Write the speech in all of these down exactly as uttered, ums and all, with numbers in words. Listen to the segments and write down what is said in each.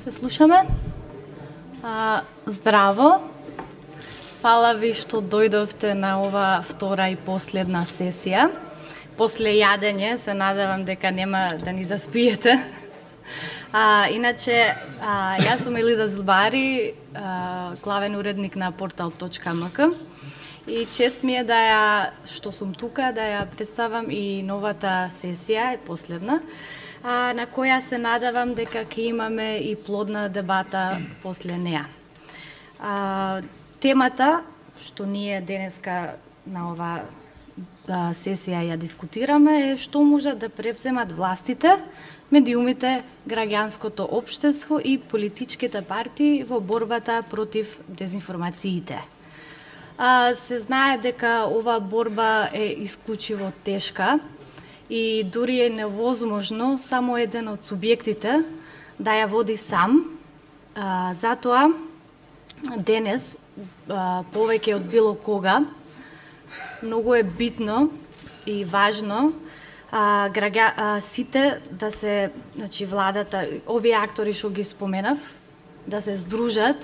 Се слушаме? А, здраво. Фала ви што дојдовте на ова втора и последна сесија. После јадење се надевам дека нема да ни заспиете. А, иначе, а, јас сум Елида Зубари, а, главен уредник на портал точка ем ка. И чест ми е да ја, што сум тука, да ја представам и новата сесија, последна, а, на која се надевам дека ќе имаме и плодна дебата после неа. А, темата што ние денеска на ова а, сесија ја дискутираме е што можат да превземат властите, медиумите, граѓанското општество и политичките партии во борбата против дезинформациите. А, се знае дека ова борба е исклучиво тешка и дури е невозможно само еден од субјектите да ја води сам. А, затоа денес, а, повеќе од било кога, многу е битно и важно а, граѓа, а, сите да се, значи владата, овие актори што ги споменав, да се здружат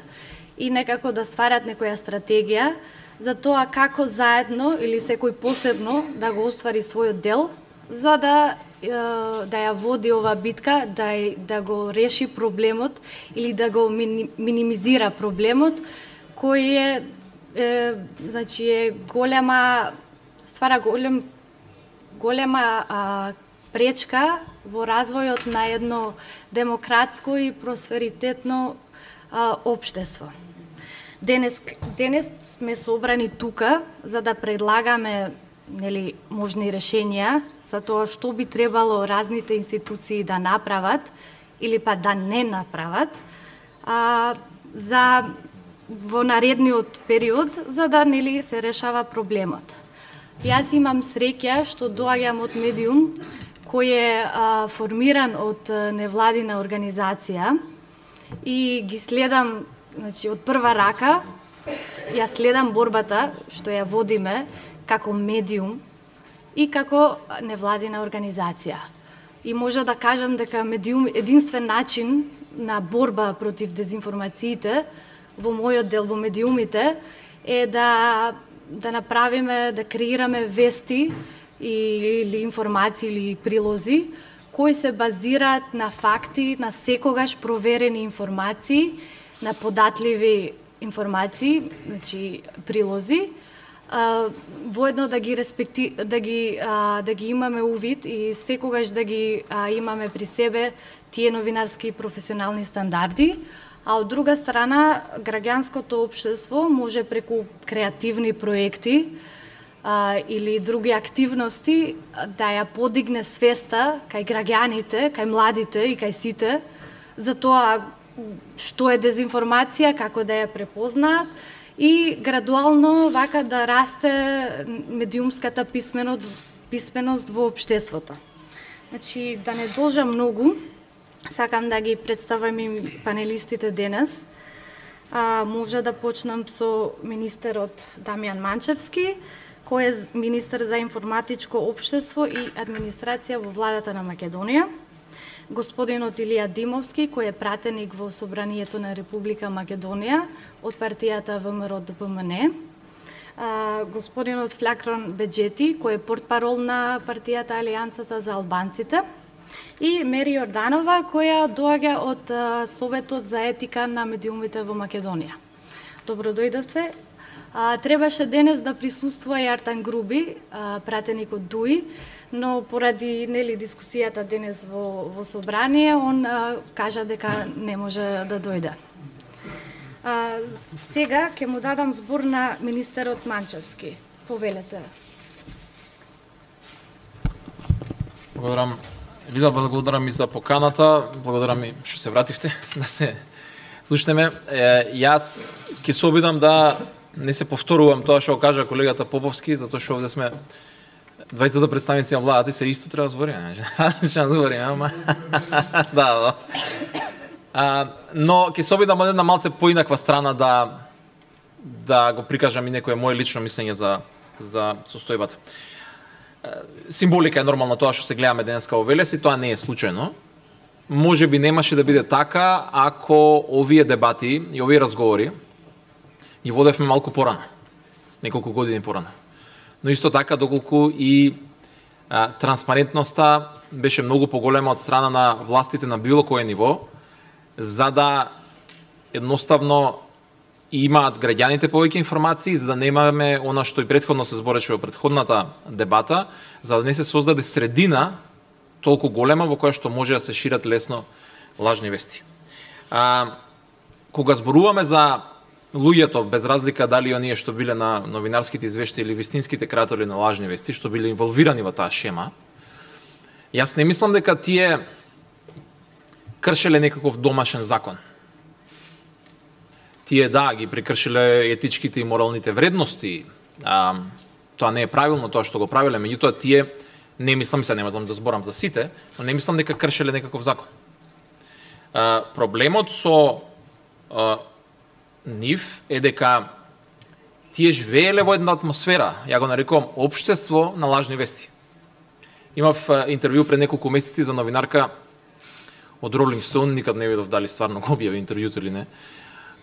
и некако да стварат некоја стратегија за тоа како заедно или секој посебно да го оствари својот дел, за да да ја води ова битка, да да го реши проблемот или да го минимизира проблемот кој е, е значи е голема ствара голем голема а, пречка во развојот на едно демократско и просперитетно а, општество. Денес, денес сме собрани тука за да предлагаме, нели, можни решенија за тоа што би требало разните институции да направат или па да не направат а, за во наредниот период за да, нели, се решава проблемот. Јас имам среќа што доаѓам од медиум кој е а, формиран од невладина организација и ги следам, значи, од прва рака, ја следам борбата што ја водиме како медиум и како невладина организација. И може да кажам дека медиум единствен начин на борба против дезинформациите во мојот дел во медиумите е да да направиме, да креираме вести или информации или прилози кои се базираат на факти, на секогаш проверени информации, на податливи информации, значи прилози, а, воедно да ги респекти, да ги а, да ги имаме увид и секогаш да ги а, имаме при себе тие новинарски и професионални стандарди, а од друга страна граѓанското општество може преку креативни проекти а, или други активности да ја подигне свеста кај граѓаните, кај младите и кај сите за тоа што е дезинформација, како да ја препознаат и градуално вака да расте медиумската писменост, писменост во општеството. Значи, да не должам многу, сакам да ги представам и панелистите денес. А, може да почнам со министерот Дамјан Манчевски, кој е министер за информатичко општество и администрација во владата на Македонија. Господинот Илија Димовски, кој е пратеник во Собранието на Република Македонија од партијата ВМРО Д П М Н. А, господинот Флакрон Беџети, кој е портпарол на партијата Алијансата за албанците. И Мери Јорданова, која доаѓа од а, Советот за етика на медиумите во Македонија. Добро дојдовте. А, требаше денес да присуствува и Артан Груби, а, пратеник од ДУИ, но поради, нели, дискусијата денес во, во собрание, он а, кажа дека не може да дојде. А, сега ќе му дадам збор на министерот Манчевски. Повелете. Благодарам. Лида, благодарам и за поканата, благодарам и што се вративте да се слушнеме. Е, јас ќе се обидам да не се повторувам тоа што кажа колегата Поповски, затоа што овде сме двајцата представници на владата и се исто треба збориме. Што збориме, ама да, да. А, но ќе се обидам од една малце поинаква страна да да го прикажам и некое моје лично мислење за за состојбата. Символика е нормално тоа што се гледаме денеска во Велес и тоа не е случајно. може би немаше да биде така ако овие дебати и овие разговори ги водевме малку порано, неколку години порано. Но исто така доколку и а, транспарентноста беше многу поголема од страна на властите на било кое ниво, за да едноставно имаат граѓаните повеќе информации, за да немаме она што и претходно се збореше во претходната дебата, за да не се создаде средина толку голема во која што може да се шират лесно лажни вести. А, кога зборуваме за луѓето, без разлика дали оние што биле на новинарските извештаи или вистинските креатори на лажни вести, што биле инволвирани во таа шема, јас не мислам дека тие кршеле некаков домашен закон. Тие да, ги прекршиле етичките и моралните вредности, а, тоа не е правилно тоа што го правиле, меѓутоа тие, не мислам, се нема да зборам за сите, но не мислам дека кршеле некаков закон. А, проблемот со а, нив е дека тие живееле во една атмосфера, ја го нарекувам општество на лажни вести. Имав а, интервју пред неколку месеци за новинарка од Rolling Stone, никад не видов дали стварно го објави интервјуто или не.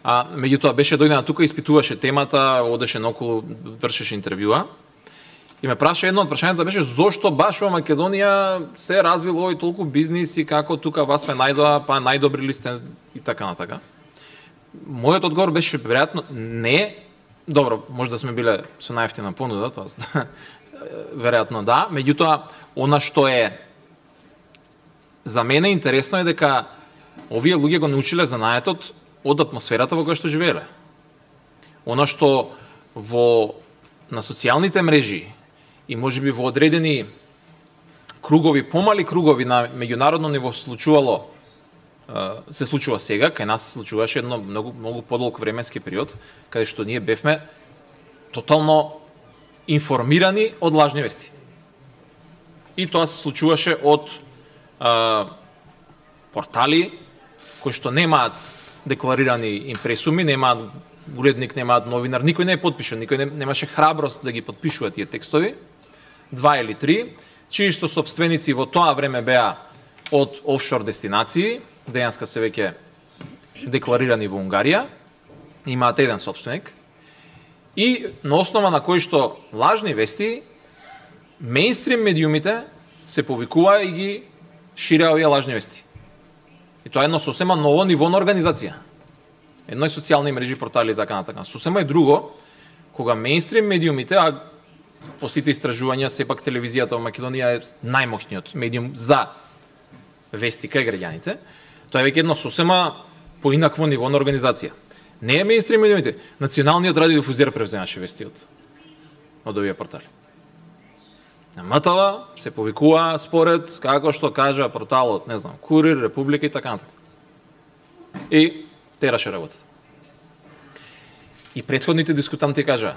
А, меѓутоа беше дојдена тука, испитуваше темата, одеше наоколу, вршеше интервјуа. И ме праша едно од прашањата беше зошто баш во Македонија се развил овој толку бизнис и како тука вас ме најдоа, па најдобри ли сте и така натака. Мојот одговор беше веројатно не, добро, може да сме биле со најефтина понуда, тоа веројатно да, меѓутоа она што е за мене интересно е дека овие луѓе го научиле занаетот од атмосферата во која што живееле. Она што во на социјалните мрежи и можеби во одредени кругови, помали кругови на меѓународно ниво случувало, се случува сега, кај нас се случуваше едно многу, многу подолг временски период, каде што ние бевме тотално информирани од лажни вести. И тоа се случуваше од а, портали кои што немаат декларирани импресуми, немаат уредник, немаат новинар, никој не е подпишан, никој не, немаше храброст да ги подпишува тие текстови, два или три, чии што собственици во тоа време беа од офшор дестинации, денеска се веќе декларирани во Унгарија, имаат еден собственик, и на основа на кои што лажни вести, мејнстрим медиумите се повикува и ги ширеа овие лажни вести. И тоа е едно сосема ново ниво на организација. Едно е социјални мрежи, портали и така натака. Сосема е друго, кога мејнстрим медиумите, а по сите истражувања, сепак телевизијата во Македонија е најмоќниот медиум за вести кај граѓаните, тоа е веќе едно сосема поинакво ниво на организација. Не е мејнстрим медиумите, националниот радиодифузер превземаше вести од, од овие портали. На МТВ се повикува според како што кажа порталот, не знам, Курир, Република и така натака. И тераше работата. И претходните дискутанти кажа,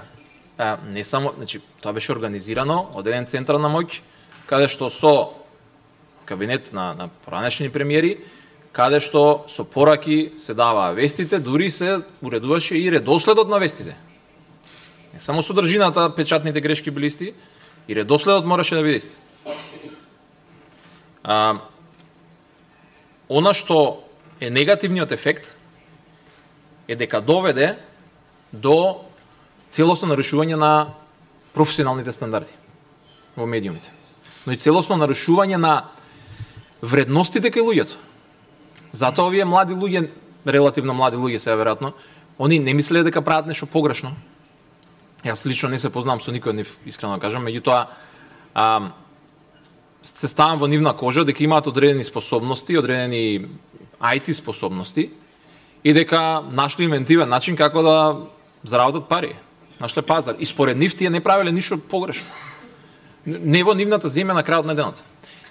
а, не само, значи, тоа беше организирано од еден центар на моќ, каде што со кабинет на, на поранешни премиери, каде што со пораки се даваа вестите, дури се уредуваше и редоследот на вестите. Не само содржината, печатните грешки били исти, и редоследот мораше да биде ист. А, она што е негативниот ефект е дека доведе до целосно нарушување на професионалните стандарди во медиумите. Но и целосно нарушување на вредностите кај луѓето. Затоа овие млади луѓе, релативно млади луѓе се веројатно, они не мислеле дека прават нешто погрешно. Јас лично не се познавам со никој од нив, искрено кажам, меѓутоа а, се ставам во нивна кожа дека имаат одредени способности, одредени ај ти способности и дека нашли инвентивен начин како да заработат пари, нашле пазар. И според нив тие не правеле ништо погрешно. Не во нивната земја на крајот на денот.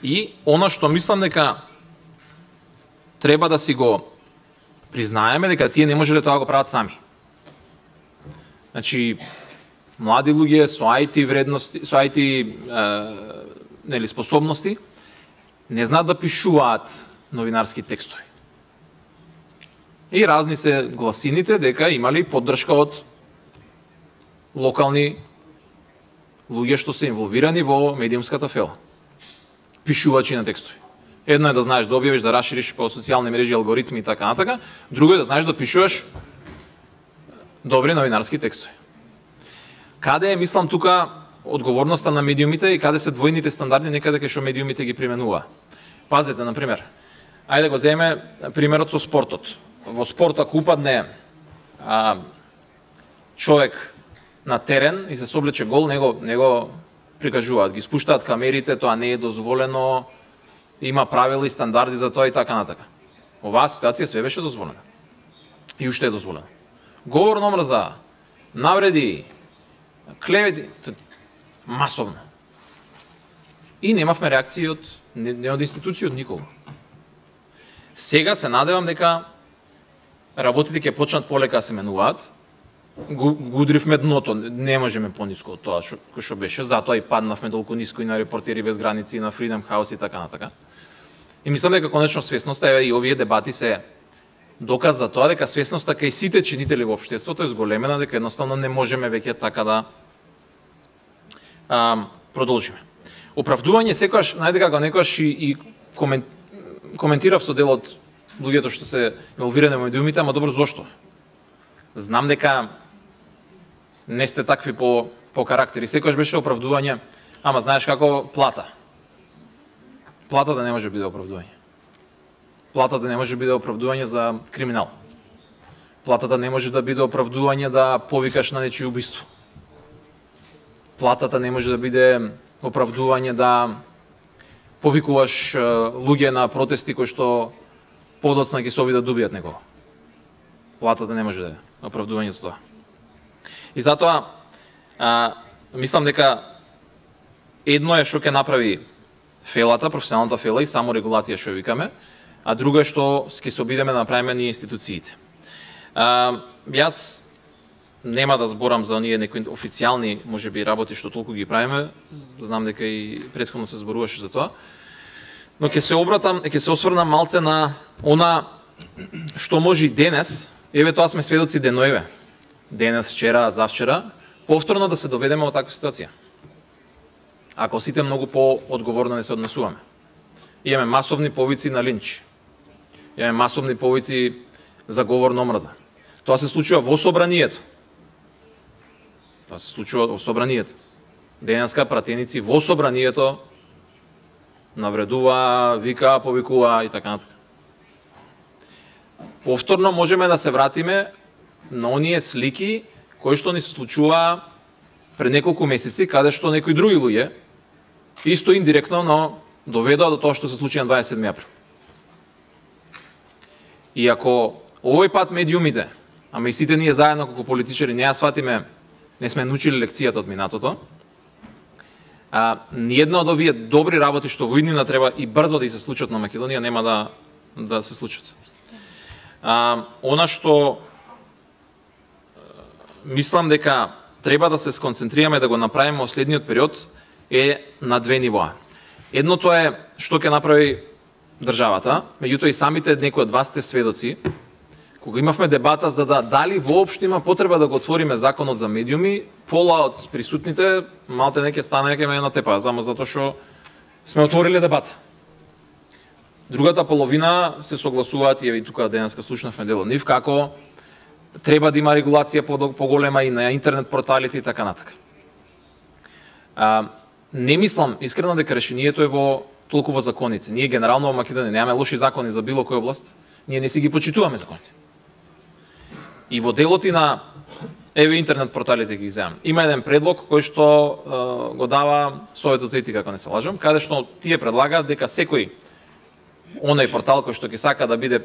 И она што мислам дека треба да си го признаеме дека тие не можеле тоа го прават сами. Значи, млади луѓе со ај ти вредности, со ај ти е, нели способности не знаат да пишуваат новинарски текстови. И разни се гласините дека имали поддршка од локални луѓе што се инволвирани во медиумската фела. Пишувачи на текстови. Едно е да знаеш да објавиш, да расшириш по социјални мрежи, алгоритми и така натака, друго е да знаеш да пишуваш добри новинарски текстови. Каде е, мислам, тука одговорноста на медиумите и каде се двојните стандарди некаде кај што медиумите ги применува? Пазете, на пример, ајде го земеме примерот со спортот. Во спорт ако упадне а, човек на терен и се соблече гол, него, него прикажуваат, ги спуштаат камерите, тоа не е дозволено, има правила и стандарди за тоа и така натака. Оваа ситуација све беше дозволена. И уште е дозволено. Говор на омрза, навреди, клевети, масовно. И немавме реакции од не, не од институции, од никого. Сега се надевам дека работите ќе почнат полека да се менуваат. Го, го удривме дното, не можеме пониско од тоа што, што беше, затоа и паднавме толку ниско и на Репортери без граници, и на Freedom House и така натака. И мислам дека конечно свесноста, еве и овие дебати се доказ за тоа дека свесноста кај сите чинители во општеството е зголемена, дека едноставно не можеме веќе така да а, продолжиме. Оправдување секогаш, најде како некогаш и, и комен, коментирав со дел од луѓето што се инволвирани во медиумите, ама добро зошто? Знам дека не сте такви по, по карактери. Секогаш беше оправдување, ама знаеш како плата. Платата не може да биде оправдување. Платата не може да биде оправдување за криминал. Платата не може да биде оправдување да повикаш на нечие убиство. Платата не може да биде оправдување да повикуваш луѓе на протести кои што подоцна ги се обидат да добијат некого. Платата не може да е оправдување за тоа. И затоа а, мислам дека едно е што ќе направи фелата, професионалната фела и само регулација што викаме, а друго е што ќе се обидеме да направиме ние институциите. А, јас нема да зборам за оние некои официјални, можеби, работи што толку ги правиме, знам дека и претходно се зборуваше за тоа, но ќе се обратам, ќе се осврнам малце на она што може и денес, еве тоа сме сведоци деноеве, денес, вчера, завчера, повторно да се доведеме во таква ситуација. Ако сите многу по-одговорно не се однесуваме. Имаме масовни повици на линч. Имаме масовни повици за говор на омраза. Тоа се случува во собранието. Тоа се случува во собранието. Денеска пратеници во собранието навредува, вика, повикува и така натака. Повторно можеме да се вратиме на оние слики кои што ни се случува пред неколку месеци, каде што некои други луѓе исто индиректно, но доведоа до тоа што се случи на дваесет и седми април. И ако овој пат медиумите, ама и сите ние заедно како политичари не ја сватиме, не сме научили лекцијата од минатото, а ниедна од овие добри работи што во иднина треба и брзо да и се случат на Македонија нема да да се случат. А, она што мислам дека треба да се сконцентрираме да го направиме во следниот период е на две нивоа. Едното е што ќе направи државата, меѓутоа и самите некои од вас сте сведоци, кога имавме дебата за да дали воопшто има потреба да го отвориме законот за медиуми, пола од присутните малте не ќе стане ќе ме на тепа, само затоа што сме отвориле дебата. Другата половина се согласуваат и тука денеска слушнавме дел од нив како треба да има регулација поголема и на интернет порталите и така натака. А, не мислам искрено дека решението е во толку во законите. Ние генерално во Македонија немаме лоши закони за било која област, ние не си ги почитуваме законите. И во делот и на еве интернет порталите ги земам. Има еден предлог кој што е, го дава Советот за етика, ако не се лажам, каде што тие предлагаат дека секој оној портал кој што ќе сака да биде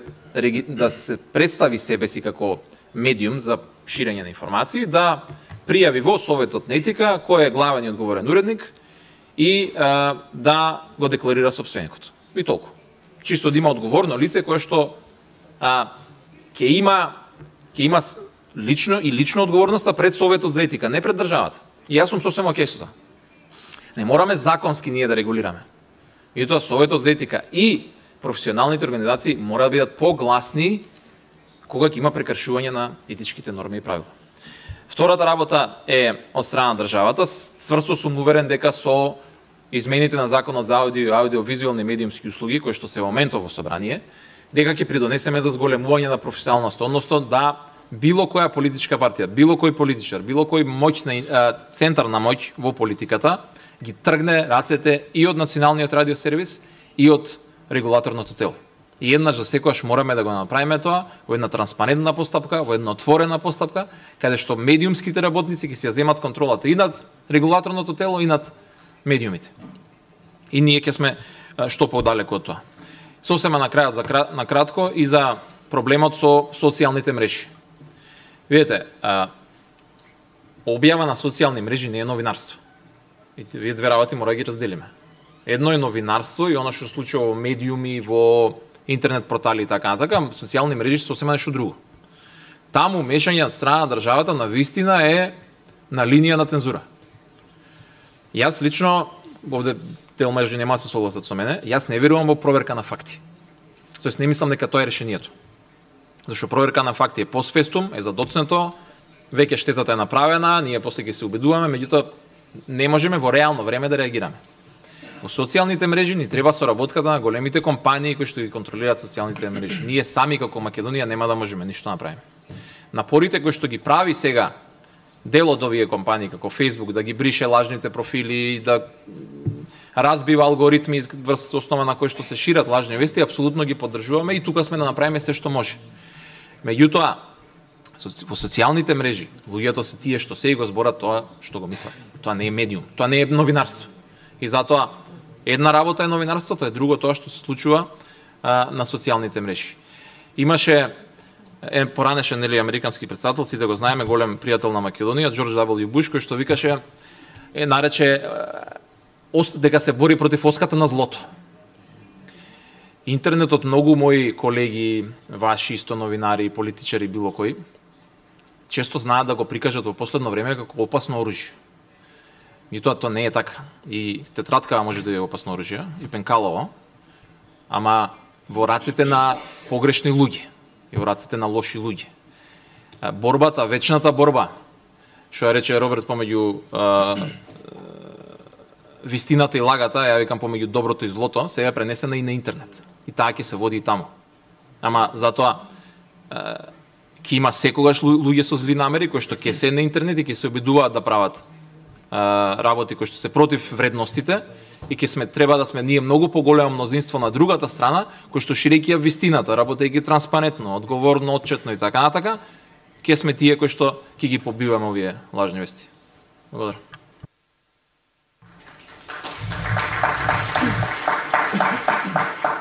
да се представи себе си како медиум за ширење на информации, да пријави во Советот на етика кој е главен и одговорен уредник и а, да го декларира сопственикот. И толку. Чисто да има одговорно лице кое што а, ќе има ќе има лично и лично одговорноста пред Советот за етика, не пред државата. И јас сум сосема окей со тоа. Не мораме законски ние да регулираме. И тоа Советот за етика и професионалните организации мора да бидат погласни кога ќе има прекршување на етичките норми и правила. Втората работа е од страна на државата. Цврсто сум уверен дека со измените на законот за аудио и аудиовизуелни медиумски услуги, кои што се во моментов во собрание, дека ќе придонесеме за зголемување на професионалност, односно да било која политичка партија, било кој политичар, било кој моќна центар на моќ во политиката ги тргне рацете и од Националниот радиосервис и од регулаторното тело. И еднаш за секојаш мораме да го направиме тоа во една транспарентна постапка, во една отворена постапка, каде што медиумските работници ќе си ја земат контролата и над регулаторното тело и над медиумите. И ние ќе сме што подалеку од тоа. Сосема на крајот, за на кратко, и за проблемот со социјалните мрежи. Видете, објава на социјални мрежи не е новинарство. И вие две работи мора да ги разделиме. Едно е новинарство и оно што се случува во медиуми, во интернет портали и така натака, социјални мрежи се сосема нешто друго. Таму мешање од страна на државата на вистина е на линија на цензура. Јас лично, овде дел мрежи нема се согласат со мене, јас не верувам во проверка на факти. Тоест не мислам дека тоа е решението. Зашто проверка на факти е постфестум, е задоцнето, веќе штетата е направена, ние после ќе се убедуваме, меѓутоа не можеме во реално време да реагираме. Во социјалните мрежи ни треба соработката на големите компании кои што ги контролираат социјалните мрежи. Ние сами како Македонија нема да можеме ништо направиме. Напорите кои што ги прави сега дел од овие компании како Facebook да ги брише лажните профили, да разбива алгоритми врз основа на кои што се шират лажни вести, апсолутно ги поддржуваме и тука сме да направиме се што може. Меѓутоа, во социјалните мрежи, луѓето се тие што се и го зборат тоа што го мислат. Тоа не е медиум, тоа не е новинарство. И затоа, една работа е новинарството, е друго тоа што се случува а, на социјалните мрежи. Имаше е поранешен нели американски претседател, сите го знаеме, голем пријател на Македонија, Џорџ Даблју Буш, кој што викаше, е нарече дека се бори против оската на злото. Интернетот, многу мои колеги, ваши исто новинари, политичари, било кои, често знаат да го прикажат во последно време како опасно оружје. И тоа тоа не е така. И тетраткава може да е опасно оружје, и пенкалово, ама во раците на погрешни луѓе, и во раците на лоши луѓе. Борбата, вечната борба, што ја рече Роберт помеѓу вистината и лагата, ја викам помеѓу доброто и злото, сега е пренесена и на интернет. И таа ќе се води и таму. Ама затоа ќе има секогаш луѓе со зли намери кои што ќе се на интернет и ќе се обидуваат да прават работи кои што се против вредностите и ќе сме треба да сме ние многу поголемо мнозинство на другата страна кои што ширејќи ја вистината, работејќи транспарентно, одговорно, отчетно и така натака, ќе сме тие кои што ќе ги побиваме овие лажни вести. Благодарам.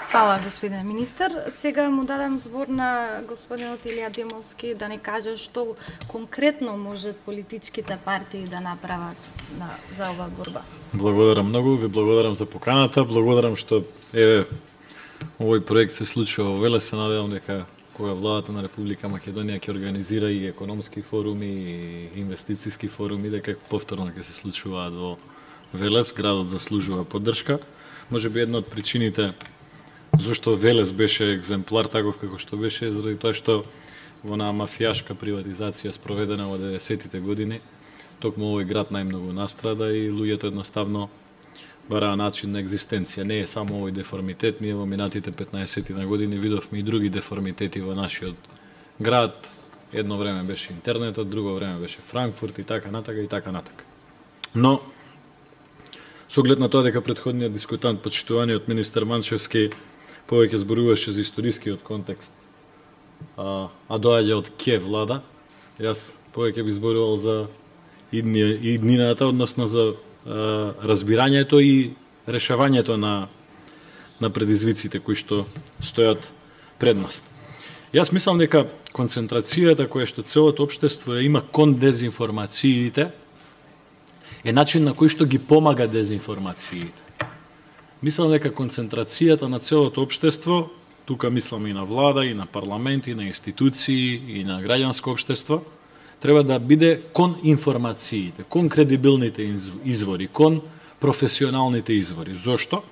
Фала, господин министер. Сега му дадам збор на господинот Илија Демовски да не каже што конкретно можат политичките партии да направат на, за оваа борба. Благодарам многу, ви благодарам за поканата, благодарам што е овој проект се случува во Велес, се надевам дека кога владата на Република Македонија ќе организира и економски форуми и инвестициски форуми, дека повторно ќе се случуваат во Велес, градот заслужува поддршка. Можеби една од причините зашто Велес беше екземплар таков како што беше, заради тоа што во на мафијашка приватизација спроведена во деветдесетите години, токму овој град најмногу настрада и луѓето едноставно бараа начин на екзистенција. Не е само овој деформитет, ние во минатите петнаесет на години видовме и други деформитети во нашиот град. Едно време беше интернетот, друго време беше Франкфурт и така натака и така натака. Но со оглед на тоа дека претходниот дискутант, почитуваниот министер Манчевски, повеќе зборуваше за историскиот контекст, а, а доаѓа од ке влада, јас повеќе би зборувал за иднината, односно за а, разбирањето и решавањето на, на предизвиците кои што стојат пред нас. Јас мислам дека концентрацијата која што целото општество има кон дезинформациите е начин на кој што ги помага дезинформациите. Мислам дека концентрацијата на целото општество, тука мислам и на влада, и на парламент, и на институции, и на граѓанско општество, треба да биде кон информациите, кон кредибилните извори, кон професионалните извори. Зошто?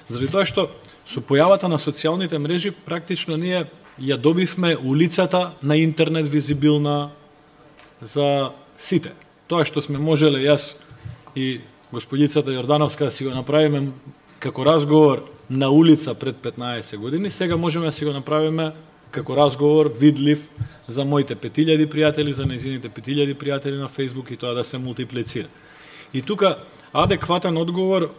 Заради тоа што со појавата на социјалните мрежи практично ние ја добивме улицата на интернет визибилна за сите. Тоа што сме можеле, јас и господицата Јордановска да си го направиме како разговор на улица пред петнаесет години, сега можеме да си го направиме како разговор видлив за моите пет илјади пријатели, за незините пет илјади пријатели на Facebook и тоа да се мултиплицира. И тука адекватен одговор,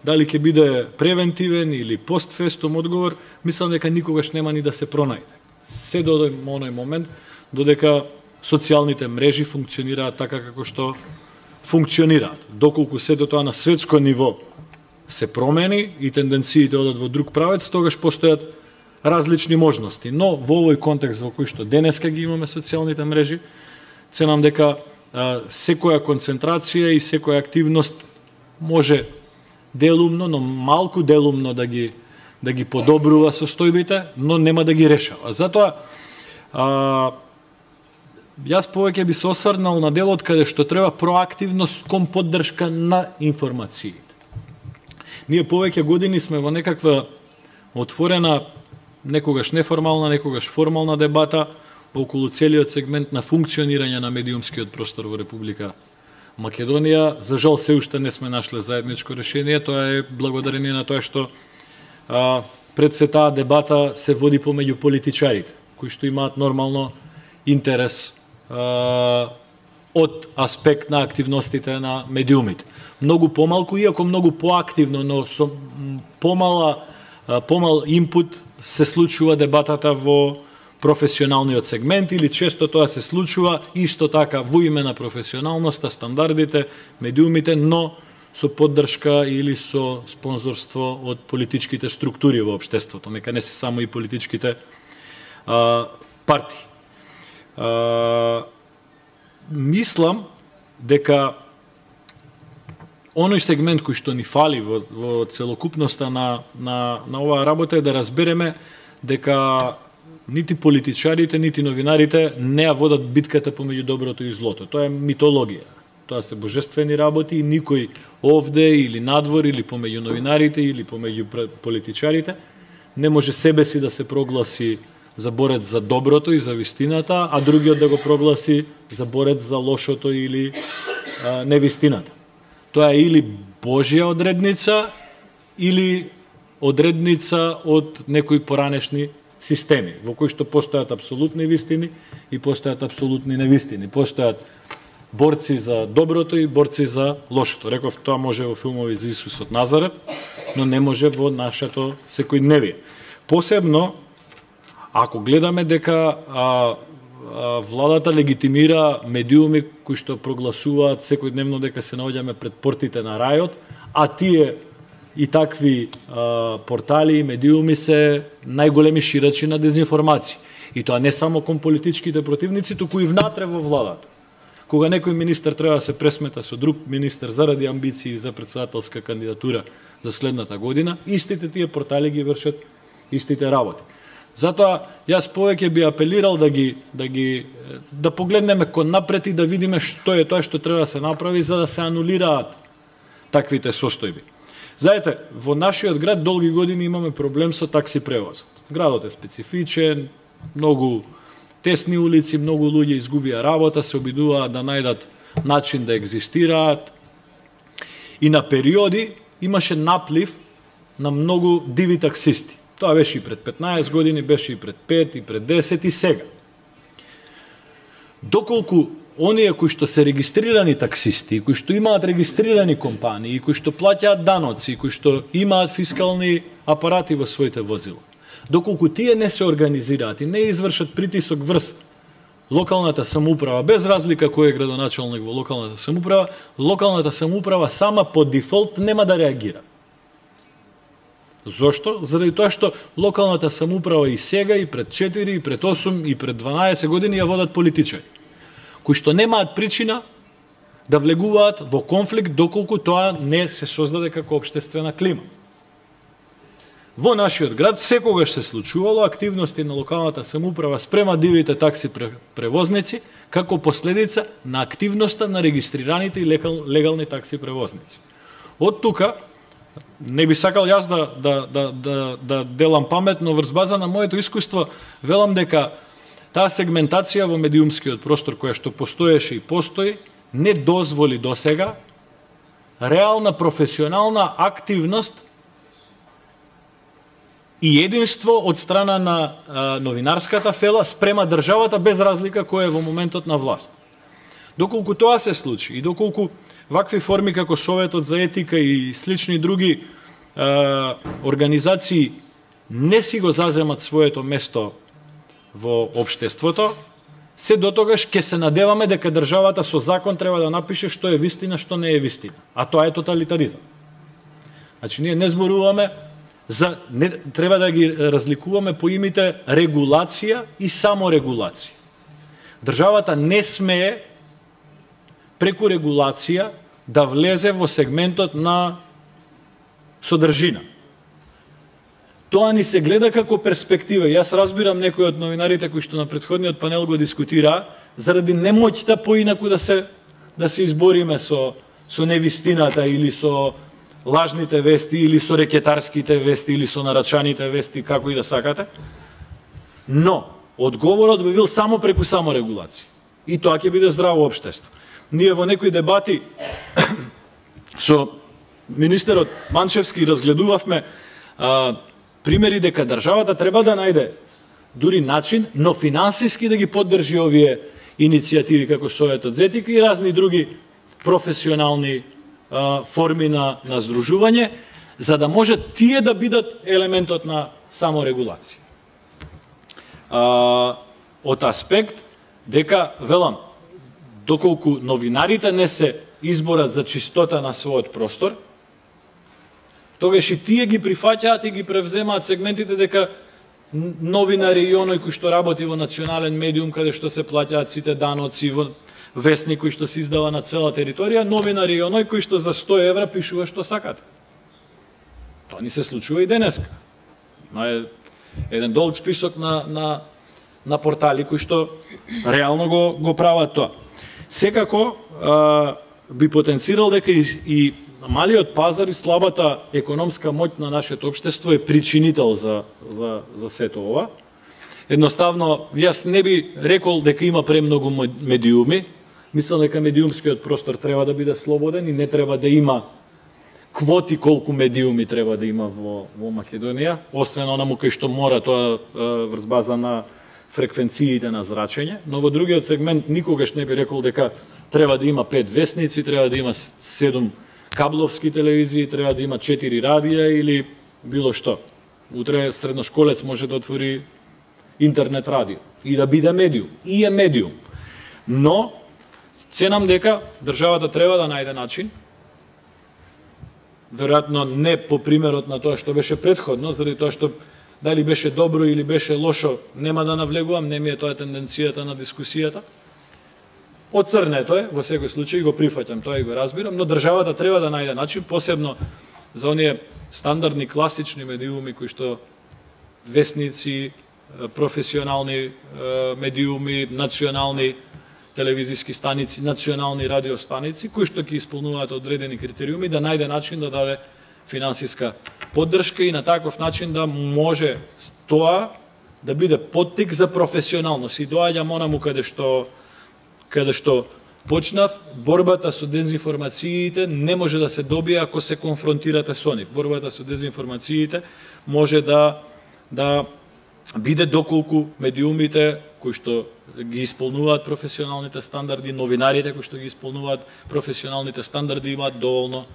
дали ќе биде превентивен или постфестум одговор, мислам дека никогаш нема ни да се пронајде. Се до оној момент додека социјалните мрежи функционираат така како што функционираат. Доколку се до тоа на светско ниво се промени и тенденциите одат во друг правец, тогаш постојат различни можности. Но во овој контекст во кој што денеска ги имаме социјалните мрежи, ценам дека а, секоја концентрација и секоја активност може делумно, но малку делумно да ги да ги подобрува состојбите, но нема да ги решава. Затоа а, јас повеќе би се осврнал на делот каде што треба проактивност кон поддршка на информациите. Ние повеќе години сме во некаква отворена, некогаш неформална, некогаш формална дебата околу целиот сегмент на функционирање на медиумскиот простор во Република Македонија. За жал се уште не сме нашле заедничко решение, тоа е благодарение на тоа што а, пред се таа дебата се води помеѓу политичарите, кои што имаат нормално интерес а, од аспект на активностите на медиумите. Многу помалку, иако многу поактивно, но со помала, помал инпут се случува дебатата во професионалниот сегмент или често тоа се случува исто така во име на професионалноста, стандардите, медиумите, но со поддршка или со спонзорство од политичките структури во општеството, нека не се само и политичките а, партии. А, мислам дека оној сегмент кој што ни фали во, во целокупноста на, на, на оваа работа е да разбереме дека нити политичарите, нити новинарите не ја водат битката помеѓу доброто и злото. Тоа е митологија. Тоа се божествени работи и никој овде или надвор или помеѓу новинарите или помеѓу политичарите не може себе си да се прогласи за борец за доброто и за вистината, а другиот да го прогласи за борец за лошото или а, невистината. Тоа е или Божја одредница, или одредница од некои поранешни системи, во кои што постојат апсолутни вистини и постојат апсолутни невистини. Постојат борци за доброто и борци за лошото. Реков, тоа може во филмови за Исус од Назарет, но не може во нашето секојдневие. Посебно, ако гледаме дека а, а, владата легитимира медиуми кои што прогласуваат секојдневно дека се наоѓаме пред портите на рајот, а тие и такви а, портали и медиуми се најголеми ширачи на дезинформации. И тоа не само кон политичките противници, туку и внатре во владата. Кога некој министер треба да се пресмета со друг министер заради амбиции за председателска кандидатура за следната година, истите тие портали ги вршат истите работи. Затоа јас повеќе би апелирал да ги да ги да погледнеме кон напред и да видиме што е тоа што треба да се направи за да се анулираат таквите состојби. Знаете, во нашиот град долги години имаме проблем со такси превоз. Градот е специфичен, многу тесни улици, многу луѓе изгубија работа, се обидуваат да најдат начин да екзистираат. И на периоди имаше наплив на многу диви таксисти. Тоа беше и пред петнаесет години, беше и пред пет, и пред десет, и сега. Доколку оние кои што се регистрирани таксисти, кои што имаат регистрирани компании, кои што плаќаат даноци, кои што имаат фискални апарати во своите возила, доколку тие не се организираат и не извршат притисок врз локалната самоуправа, без разлика кој е градоначалник во локалната самоуправа, локалната самоуправа сама по дефолт нема да реагира. Зошто? Заради тоа што локалната самоуправа и сега, и пред четири, и пред осум, и пред дванаесет години ја водат политичари, кои што немаат причина да влегуваат во конфликт доколку тоа не се создаде како општествена клима. Во нашиот град секогаш се случувало активности на локалната самоуправа спрема дивите такси превозници како последица на активноста на регистрираните и легални такси превозници. Од тука не би сакал јас да, да, да, да, да делам памет, но врз база на моето искуство велам дека таа сегментација во медиумскиот простор која што постоеше и постои, не дозволи досега реална професионална активност и единство од страна на а, новинарската фела спрема државата без разлика кој е во моментот на власт. Доколку тоа се случи и доколку вакви форми како Советот за етика и слични други а, организации не си го заземат своето место во општеството, се дотогаш ќе се надеваме дека државата со закон треба да напише што е вистина, што не е вистина. А тоа е тоталитаризам. Значи, ние не зборуваме за не, треба да ги разликуваме по имите регулација и саморегулација. Државата не смее преку регулација да влезе во сегментот на содржина. Тоа ни се гледа како перспектива. Јас разбирам некои од новинарите кои што на претходниот панел го дискутираа заради немоќта поинаку да се да се избориме со со невистината или со лажните вести или со рекетарските вести или со нарачаните вести, како и да сакате. Но одговорот би бил само преку саморегулација. И тоа ќе биде здраво општество. Ние во некои дебати со министерот Манчевски разгледувавме а, примери дека државата треба да најде дури начин, но финансиски да ги поддржи овие иницијативи како Советот за етика и разни други професионални а, форми на, на здружување, за да може тие да бидат елементот на саморегулација. А, од аспект дека, велам, доколку новинарите не се изборат за чистота на својот простор, тогаш и тие ги прифаќаат и ги превземаат сегментите дека новинари и оној кој што работи во национален медиум, каде што се плаќаат сите даноци, во вестник кој што се издава на цела територија, новинари и оној кој што за сто евра пишува што сакат. Тоа ни се случува и денеска. Има еден долг список на, на, на портали кои што реално го, го прават тоа. Секако а, би потенцирал дека и, и малиот пазар и слабата економска моќ на нашето општество е причинител за, за, за сето ова. Едноставно, јас не би рекол дека има премногу медиуми. Мислам дека медиумскиот простор треба да биде слободен и не треба да има квоти колку медиуми треба да има во, во Македонија, освен онаму кај што мора тоа врз база на фреквенциите на зрачење, но во другиот сегмент никогаш не би рекол дека треба да има пет вестници, треба да има седум кабловски телевизии, треба да има четири радија или било што. Утре средношколец може да отвори интернет радио и да биде медиум. И е медиум. Но, ценам дека државата треба да најде начин, веројатно не по примерот на тоа што беше претходно, заради тоа што дали беше добро или беше лошо, нема да навлегувам, не ми е тоа тенденцијата на дискусијата. Оцрнето е, во секој случај го прифаќам, тоа и го разбирам, но државата треба да најде начин, посебно за оние стандардни класични медиуми кои што вестници, професионални медиуми, национални телевизиски станици, национални радиостаници, кои што ќе исполнуваат одредени критериуми, да најде начин да даде финансиска поддршка и на таков начин да може тоа да биде поттик за професионалност. И доаѓам онаму каде што каде што почнав, борбата со дезинформациите не може да се добие ако се конфронтирате со нив. Борбата со дезинформациите може да да биде доколку медиумите кои што ги исполнуваат професионалните стандарди, новинарите кои што ги исполнуваат професионалните стандарди имаат доволно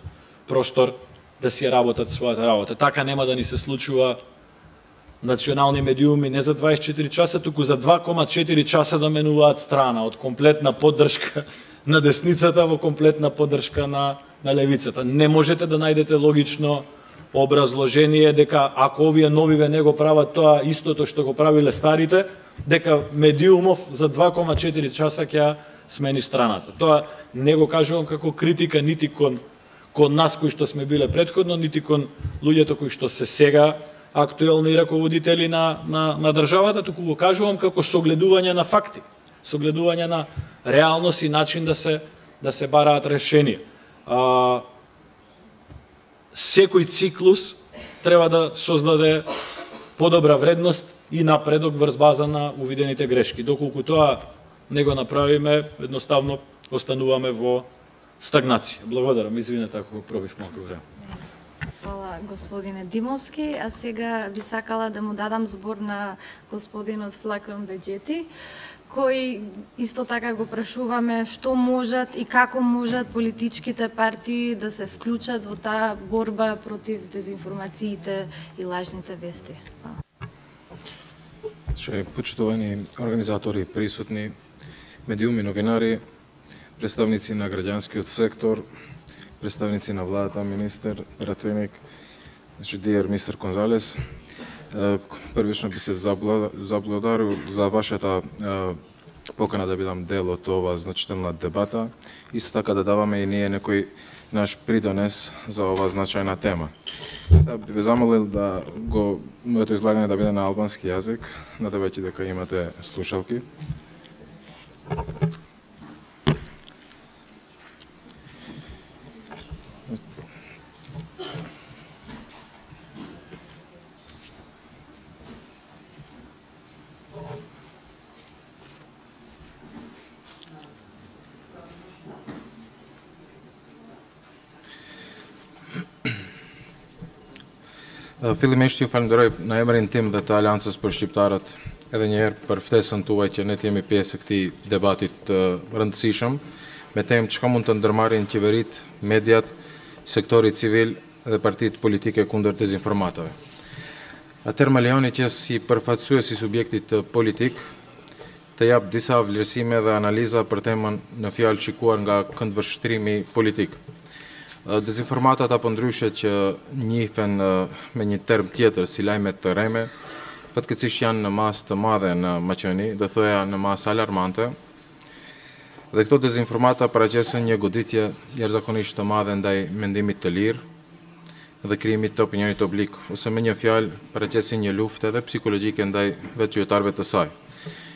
простор да си работат својата работа. Така нема да ни се случува национални медиуми не за дваесет и четири часа, туку за два кома четири часа да менуваат страна од комплетна поддршка на десницата во комплетна поддршка на, на левицата. Не можете да најдете логично образложение дека ако овие новиве не го прават тоа истото што го правиле старите, дека медиумов за два кома четири часа ќе смени страната. Тоа не го кажувам како критика нити кон кон нас кои што сме биле претходно, нити кон луѓето кои што се сега актуелни раководители на, на, на државата, туку го кажувам како согледување на факти, согледување на реалност и начин да се, да се бараат решенија. А, секој циклус треба да создаде подобра вредност и напредок врз база на увидените грешки. Доколку тоа не го направиме, едноставно остануваме во стагнација. Благодарам, извинете ако пробив малку време. Фала, господине Димовски. А сега би сакала да му дадам збор на господинот Флакон Беџети, кој исто така го прашуваме што можат и како можат политичките партии да се вклучат во таа борба против дезинформациите и лажните вести. Че почитувани организатори, присутни, медиуми, новинари, представници на граѓанскиот сектор, представници на владата, министер, пратеник, значи Диер мистер Конзалес. Првично би се заблагодарил за вашата покана да бидам дел од ова значителна дебата. Исто така да даваме и ние некој наш придонес за ова значајна тема. Да би ве замолил да го моето излагање да биде на албански јазик, надевајќи дека имате слушалки. Филимешти фалендерoj na emrin tim dhe të Aleancës për Shqiptarët edhe njëherë për ftesën tuaj që ne jemi pjesë e këtij debatit të rëndësishëm me temë çka mund të ndërmarrin qeverit, mediat, sektori civil dhe partitë politike kundër dezinformatave. Atëherë më lejoni që si përfaqësues i subjektit politik të jap disa vlerësime dhe analiza për temën në fjalë shikuar nga këndvështrimi politik. Dezinformatat apo ndryshe që njihen me një term tjetër si lajmet të rreme, fatkeqësisht janë në masë të madhe në Maqedoni, do thoya në masë alarmante. Dhe këto dezinformata paraqesin një goditje jashtëzakonisht të madhe ndaj mendimit të lirë dhe krijimit të opinionit publik, ose me një fjalë paraqesin një luftë edhe psikologjike ndaj vetë qytetarëve të saj.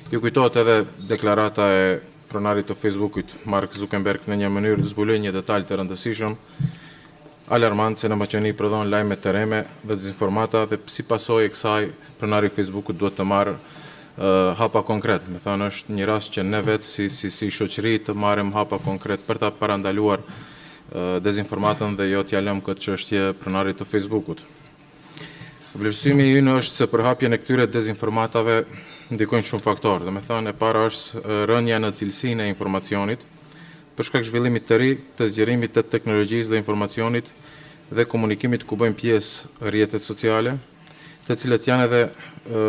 Ju kujtohet edhe deklarata e pronarit të Facebookut, Mark Zuckerberg, në një mënyrë zbuloi një detaj të rëndësishëm, alarmant se në Maqedoni prodhon lajme të rreme dhe dezinformata dhe si pasojë e kësaj pronari i Facebookut duhet të marrë uh, hapa konkret. Me thënë është një rast që ne vetë si si si shoqëri të marrim hapa konkret për ta parandaluar uh, dezinformatën dhe jo t'ja lëmë këtë çështje pronarit të Facebookut. Vlerësimi ynë është se përhapjen e këtyre dezinformatave ndikojnë shumë faktorë. Dhe me thënë e para është rënja në cilësinë e informacionit, për shkak zhvillimit të ri të zgjerimit të teknologjisë dhe informacionit dhe komunikimit ku bëjmë pjesë rrjetet sociale, të cilët janë edhe e,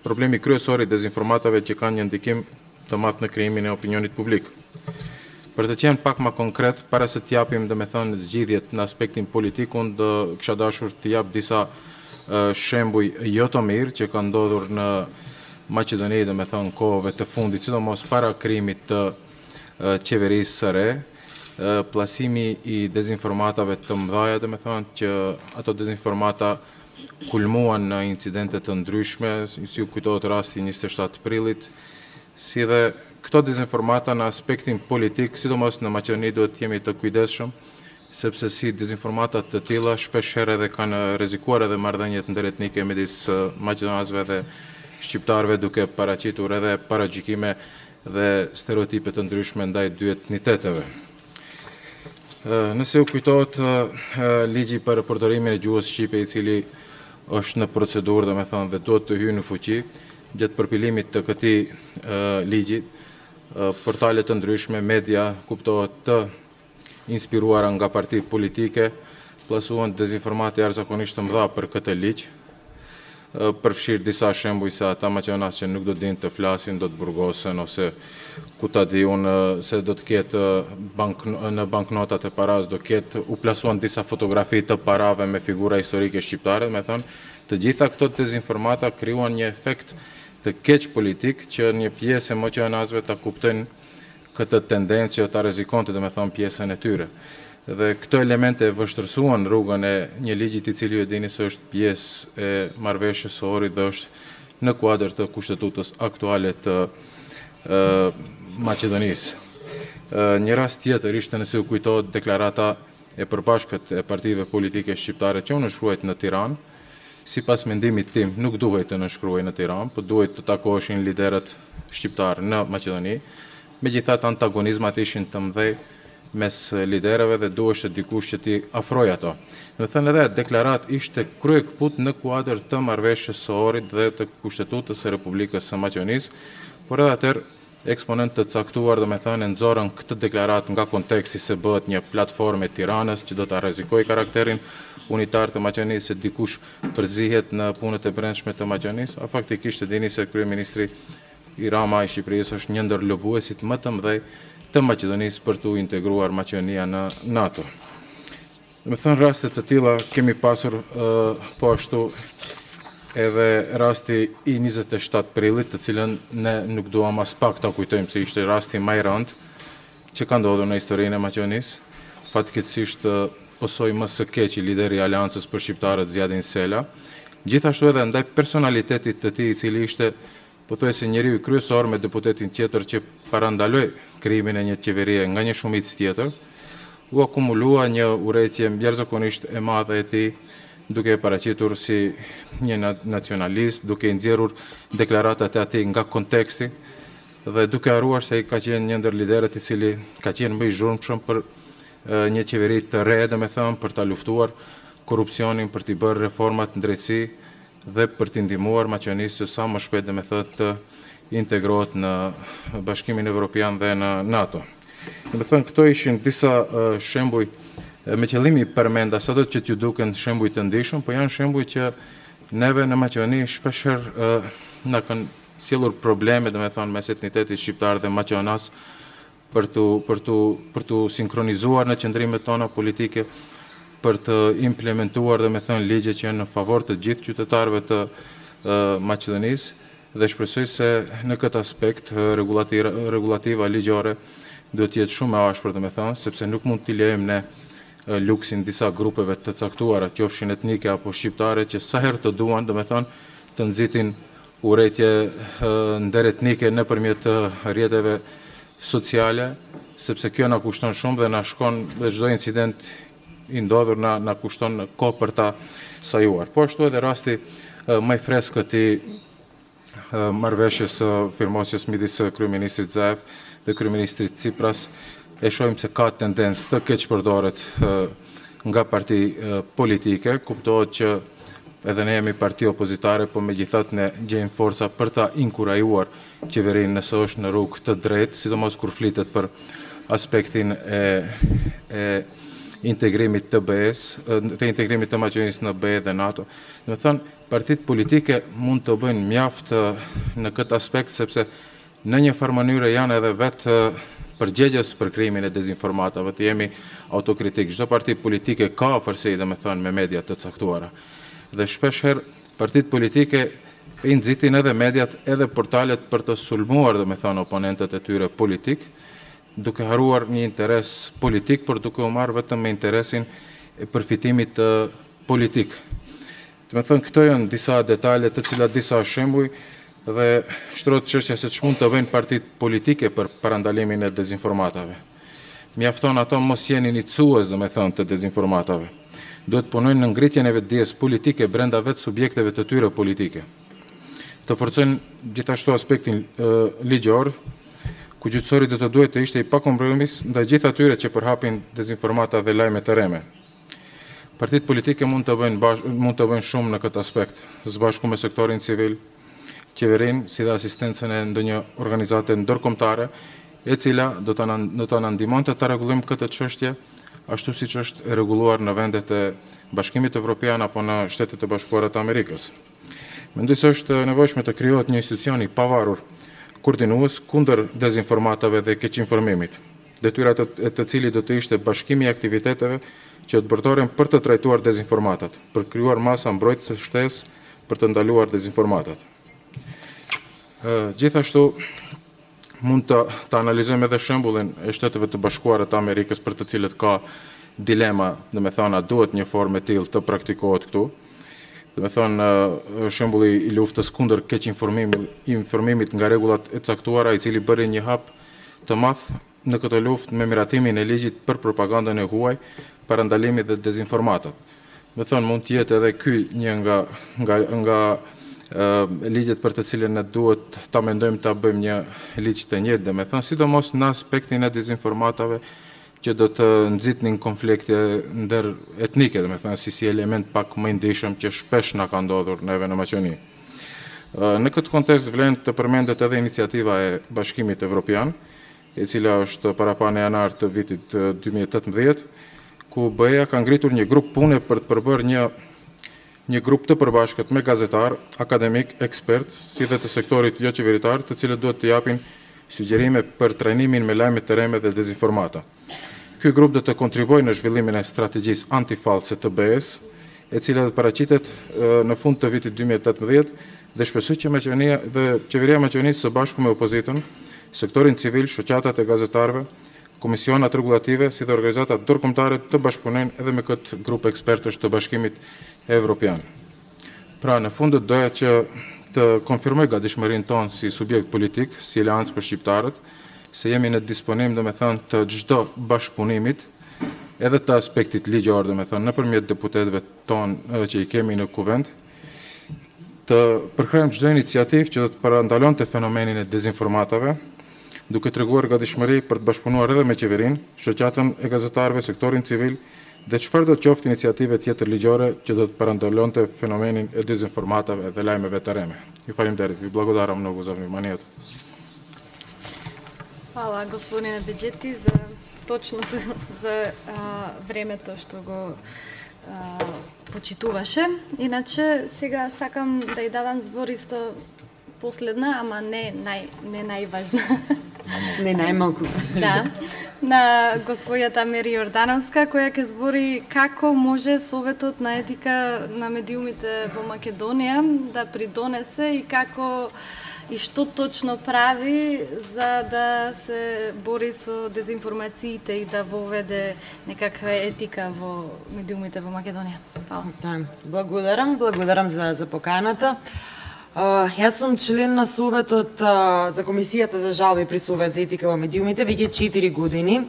problemi kryesor i dezinformatave që kanë një ndikim të madh në krijimin e opinionit publik. Për të qenë pak më konkret, para se të japim, domethënë, zgjidhjet në aspektin politik, unë do kisha dashur të jap disa e, shembuj jo të mirë që kanë ndodhur në Maqedoni, dhe me thënë kohëve të fundit, sidomos para krijimit të uh, qeverisë së re, uh, plasimi i dezinformatave të mëdhaja, dhe me thënë që ato dezinformata kulmuan në incidente të ndryshme, si ju kujtohet rasti njëzet e shtatë prillit, si dhe këto dezinformata në aspektin politik, sidomos në Maqedoni duhet të jemi të kujdesshëm, sepse si dezinformatat të tilla shpesh herë edhe kanë rrezikuar edhe marrëdhëniet ndërretnike midis uh, maqedonasëve dhe shqiptarëve duke paraqitur edhe paragjykime dhe stereotipe të ndryshme ndaj dy etniteteve. Nëse u kujtohet ligji për përdorimin e gjuhës shqipe, i cili është në procedurë, domethënë, dhe duhet të hyjë në fuqi, gjatë përpilimit të këtij ligji, portale të ndryshme, media kuptohet të inspiruara nga parti politike, plasuan dezinformate jashtëzakonisht të mëdha për këtë ligj, përfshirë disa shembuj se ata maqedonas që nuk do dinë të flasin, do të burgosen, ose ku ta di unë se do të ketë bank, në banknotat e paras do ketë u plasuan disa fotografi të parave me figura historike shqiptare, me thënë, të gjitha këto dezinformata krijuan një efekt të keq politik që një pjesë e maqedonasëve ta kuptojnë këtë tendencë që ta rrezikonte, domethënë, pjesën e tyre. Dhe këto elemente vështërsuan rrugën e një ligjit i cili ju dini se është pjesë e marrëveshjes së Ohrit dhe është në kuadër të kushtetutës aktuale të e, Maqedonisë. E, një rast tjetër ishte, nëse u kujtohet, deklarata e përbashkët e partive politike shqiptare që u nënshkruajt në Tiranë. Sipas mendimit tim, nuk duhet të nënshkruaj në Tiranë, por duhet të takoheshin liderët shqiptar në Maqedoni. Megjithatë, antagonizmat ishin të mëdhej mes liderëve dhe duhej dikush që t'i afrojë ato. Do të thënë edhe deklarat ishte kryekput në kuadër të marrëveshjes së Ohrit dhe të Kushtetutës së Republikës së Maqedonisë, por edhe atëherë eksponent të caktuar, do me thënë, nxorën këtë deklarat nga konteksti se bëhet një platformë e Tiranës që do ta rrezikojë karakterin unitar të Maqedonisë, se dikush përzihet në punët e brendshme të Maqedonisë, a faktikisht e dini se kryeministri i Rama i Shqipërisë është një ndër lobuesit më të mëdhej të Maqedonisë për të integruar Maqedonia në NATO. Do me thënë, raste të tilla kemi pasur uh, po ashtu edhe rasti i njëzet e shtatë prillit, të cilën ne nuk duam as pak ta kujtojmë se ishte rasti më i rëndë që ka ndodhur në historinë e Maqedonisë. Fatkeqësisht posoi më së keq i lideri i Aleancës për Shqiptarët Zjadin Sela, gjithashtu edhe ndaj personalitetit të tij i cili ishte pothuajse njeriu kryesor me deputetin tjetër që parandaloi krimin e një qeverie nga një shumicë tjetër, u akumulua një urrëtie jashtëzakonisht e madhe e tij, duke e paraqitur si një nacionalist, duke i nxjerrur deklaratat e atij nga konteksti dhe duke harruar se ai ka qenë një ndër liderët i cili ka qenë më i zhurmshëm për një qeveri të re, domethënë, për ta luftuar korrupsionin, për t'i bërë reformat në drejtësi dhe për t'i ndihmuar Maqedonisë sa më shpejt, domethënë, të integrohet në Bashkimin Evropian dhe në NATO. Domethënë, këto ishin disa shembuj me qëllimi përmenda sa do që t'ju duken shembuj të ndihshëm, po janë shembuj që neve në Maqedoni shpeshherë na kanë sjellur probleme, domethënë, mes etnitetit shqiptar dhe maqedonas për të për të për të sinkronizuar në qëndrimet tona politike, për të implementuar, domethënë, ligje që janë në favor të gjithë qytetarëve të Maqedonisë dhe shpresoj se në këtë aspekt regulativa, regulativa ligjore duhet të jetë shumë e ashpër, domethënë, sepse nuk mund t'i lejmë ne luksin disa grupeve të caktuara, qofshin etnike apo shqiptare, që sa herë të duan, domethënë, të nxitin urrëtie ndëretnike nëpërmjet rrjeteve sociale, sepse kjo na kushton shumë dhe na shkon, dhe çdo incident i ndodhur na na kushton kohë për ta sajuar. Po ashtu edhe rasti më i freskët i marrëveshjes së firmosjes midis kryeministrit Zaev dhe kryeministrit Tsipras, e shohim se ka tendencë të keqpërdoret nga parti politike, kuptohet që edhe ne jemi parti opozitare, po megjithatë ne gjejmë forca për ta inkurajuar qeverinë nëse është në rrugë të drejtë, sidomos kur flitet për aspektin e, e integrimit të B E-s, të integrimit të Maqedonisë në B E dhe NATO. Do të thënë, partitë politike mund të bëjnë mjaft në këtë aspekt, sepse në një farë mënyrë janë edhe vetë përgjegjës për krimin e dezinformatave, të jemi autokritik. Çdo parti politike ka afërsej, domethënë, me media të caktuara. Dhe shpeshherë partitë politike i nxitin edhe mediat, edhe portalet për të sulmuar, domethënë, oponentët e tyre politik, duke harruar një interes politik, por duke u marrë vetëm me interesin e përfitimit politik. Domethënë, këto janë disa detale, të cilat disa shembuj, dhe shtrohet çështja se ç'mund të bëjnë partitë politike për parandalimin e dezinformatave. Mjafton ato mos jeni nicues, domethënë, të dezinformatave. Duhet punojnë në ngritjen e vetdijes politike brenda vetë subjekteve të tyre politike. Të forcojnë gjithashtu aspektin e, ligjor, ku gjyqësori do të duhet të ishte i pakompromis ndaj gjithë atyre që përhapin dezinformata dhe lajme të rreme. Partitë politike mund të bëjnë bash, mund të bëjnë shumë në këtë aspekt, së bashku me sektorin civil, qeverinë, si dhe asistencën e ndonjë organizate ndërkombëtare, e cila do ta do ta na ndihmonte ta rregullojmë këtë çështje, ashtu siç është e rregulluar në vendet e Bashkimit Evropian apo në Shtetet e Bashkuara të Amerikës. Mendoj se është nevojshme të krijohet një institucion i pavarur, koordinues kundër dezinformatave dhe keqinformimit. Detyra e të cilit do të ishte bashkimi i aktiviteteve që të bërtoren për të trajtuar dezinformatat, për krijuar masa mbrojtëse shtesë për të ndaluar dezinformatat. Gjithashtu mund të, të analizojmë edhe shembullin e Shteteve të Bashkuara të Amerikës, për të cilët ka dilema, dhe me thana, duhet një formë e tillë të praktikohet këtu. Dhe me thënë, shembulli i luftës kundër keq informimit, informimit nga rregullat e caktuara, i cili bëri një hap të madh në këtë luftë me miratimin e ligjit për propagandën e huaj, parandalimit dhe dezinformatat. Dhe me thënë, mund të jetë edhe ky një nga nga nga Uh, ligjet për të cilën ne duhet ta mendojmë ta bëjmë një ligj të njëjtë, dhe me thënë, sidomos në aspektin e dezinformatave që do të nxitnin konflikte ndër etnike, domethënë si si element pak më i ndihshëm që shpesh na ka ndodhur neve në Maqedoni. Në këtë kontekst vlen të përmendet edhe iniciativa e Bashkimit Evropian, e cila është parapane janar të vitit dy mijë e tetëmbëdhjetë, ku B E A ka ngritur një grup pune për të përbërë një një grup të përbashkët me gazetar, akademik, ekspert, si dhe të sektorit jo qeveritar, të cilët duhet të japin sugjerime për trajnimin me lajme të reme dhe dezinformata. Ky grup do të kontribuojë në zhvillimin e strategjisë antifallse të B E-s, e cila do të paraqitet në fund të vitit dy mijë e tetëmbëdhjetë dhe shpresoj që Maqedonia dhe qeveria e Maqedonisë së bashku me opozitën, sektorin civil, shoqatat e gazetarëve, komisionat rregullative si dhe organizatat ndërkombëtare të bashkëpunojnë edhe me këtë grup ekspertësh të Bashkimit Evropian. Pra, në fundet doja që të konfirmoj gatishmërinë tonë si subjekt politik, si Aleancë për Shqiptarët, se jemi në disponim, domethënë, të çdo bashkëpunimit, edhe të aspektit ligjor, domethënë, nëpërmjet deputetëve tonë që i kemi në kuvend, të përkrejmë çdo iniciativë që do të parandalonte fenomenin e dezinformatave, duke treguar gatishmëri për të bashkëpunuar edhe me qeverinë, shoqatën e gazetarëve, sektorin civil dhe çfarë do të qoftë iniciative tjetër ligjore që do të parandalonte fenomenin e dezinformatave dhe lajmeve të reme. Ju faleminderit, ви благодарам много за вниманието. Hvala gospodine Beđeti za точното за а, времето што го а, почитуваше. Иначе сега сакам да ја дадам збор исто последна, ама не нај не најважна. Не најмалку. Да. На господјата Мери Јордановска, која ќе збори како може Советот на етика на медиумите во Македонија да придонесе и како и што точно прави за да се бори со дезинформациите и да воведе некаква етика во медиумите во Македонија. Фала. Да, благодарам, благодарам за за поканата. Uh, јас сум член на Советот uh, за Комисијата за жалби при Совет за етика во медиумите веќе четири години.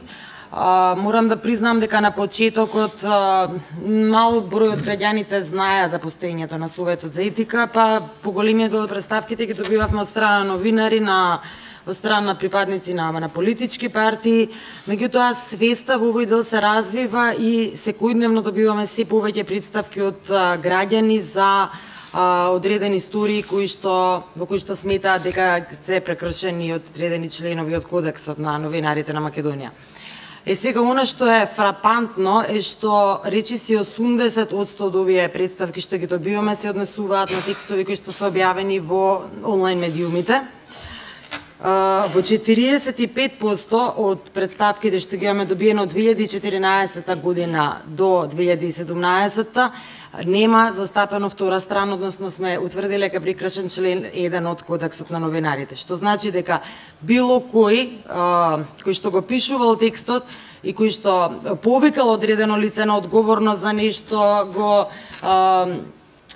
Uh, морам да признам дека на почетокот uh, мал број од граѓаните знаеа за постоењето на Советот за етика, па поголемиот дел од представките ги добивавме од страна новинари, на од страна на припадници на, на политички партии. Меѓутоа свеста во овој дел се развива и секојдневно добиваме се повеќе представки од uh, граѓани за Uh, одредени истории кои што во кои што сметаат дека се прекршени од одредени членови од кодексот на новинарите на Македонија. Е сега она што е фрапантно е што речиси осумдесет одсто од овие представки што ги добиваме се однесуваат на текстови кои што се објавени во онлайн медиумите. Uh, во четириесет и пет проценти од представките што ги имаме добиено од две илјади и четиринаесетта година до две илјади и седумнаесетта нема застапено втора страна, односно сме утврдиле дека прекршен член еден од кодексот на новинарите, што значи дека било кој а, кој што го пишувал текстот и кој што повикал одредено лице на одговорност за нешто, го а,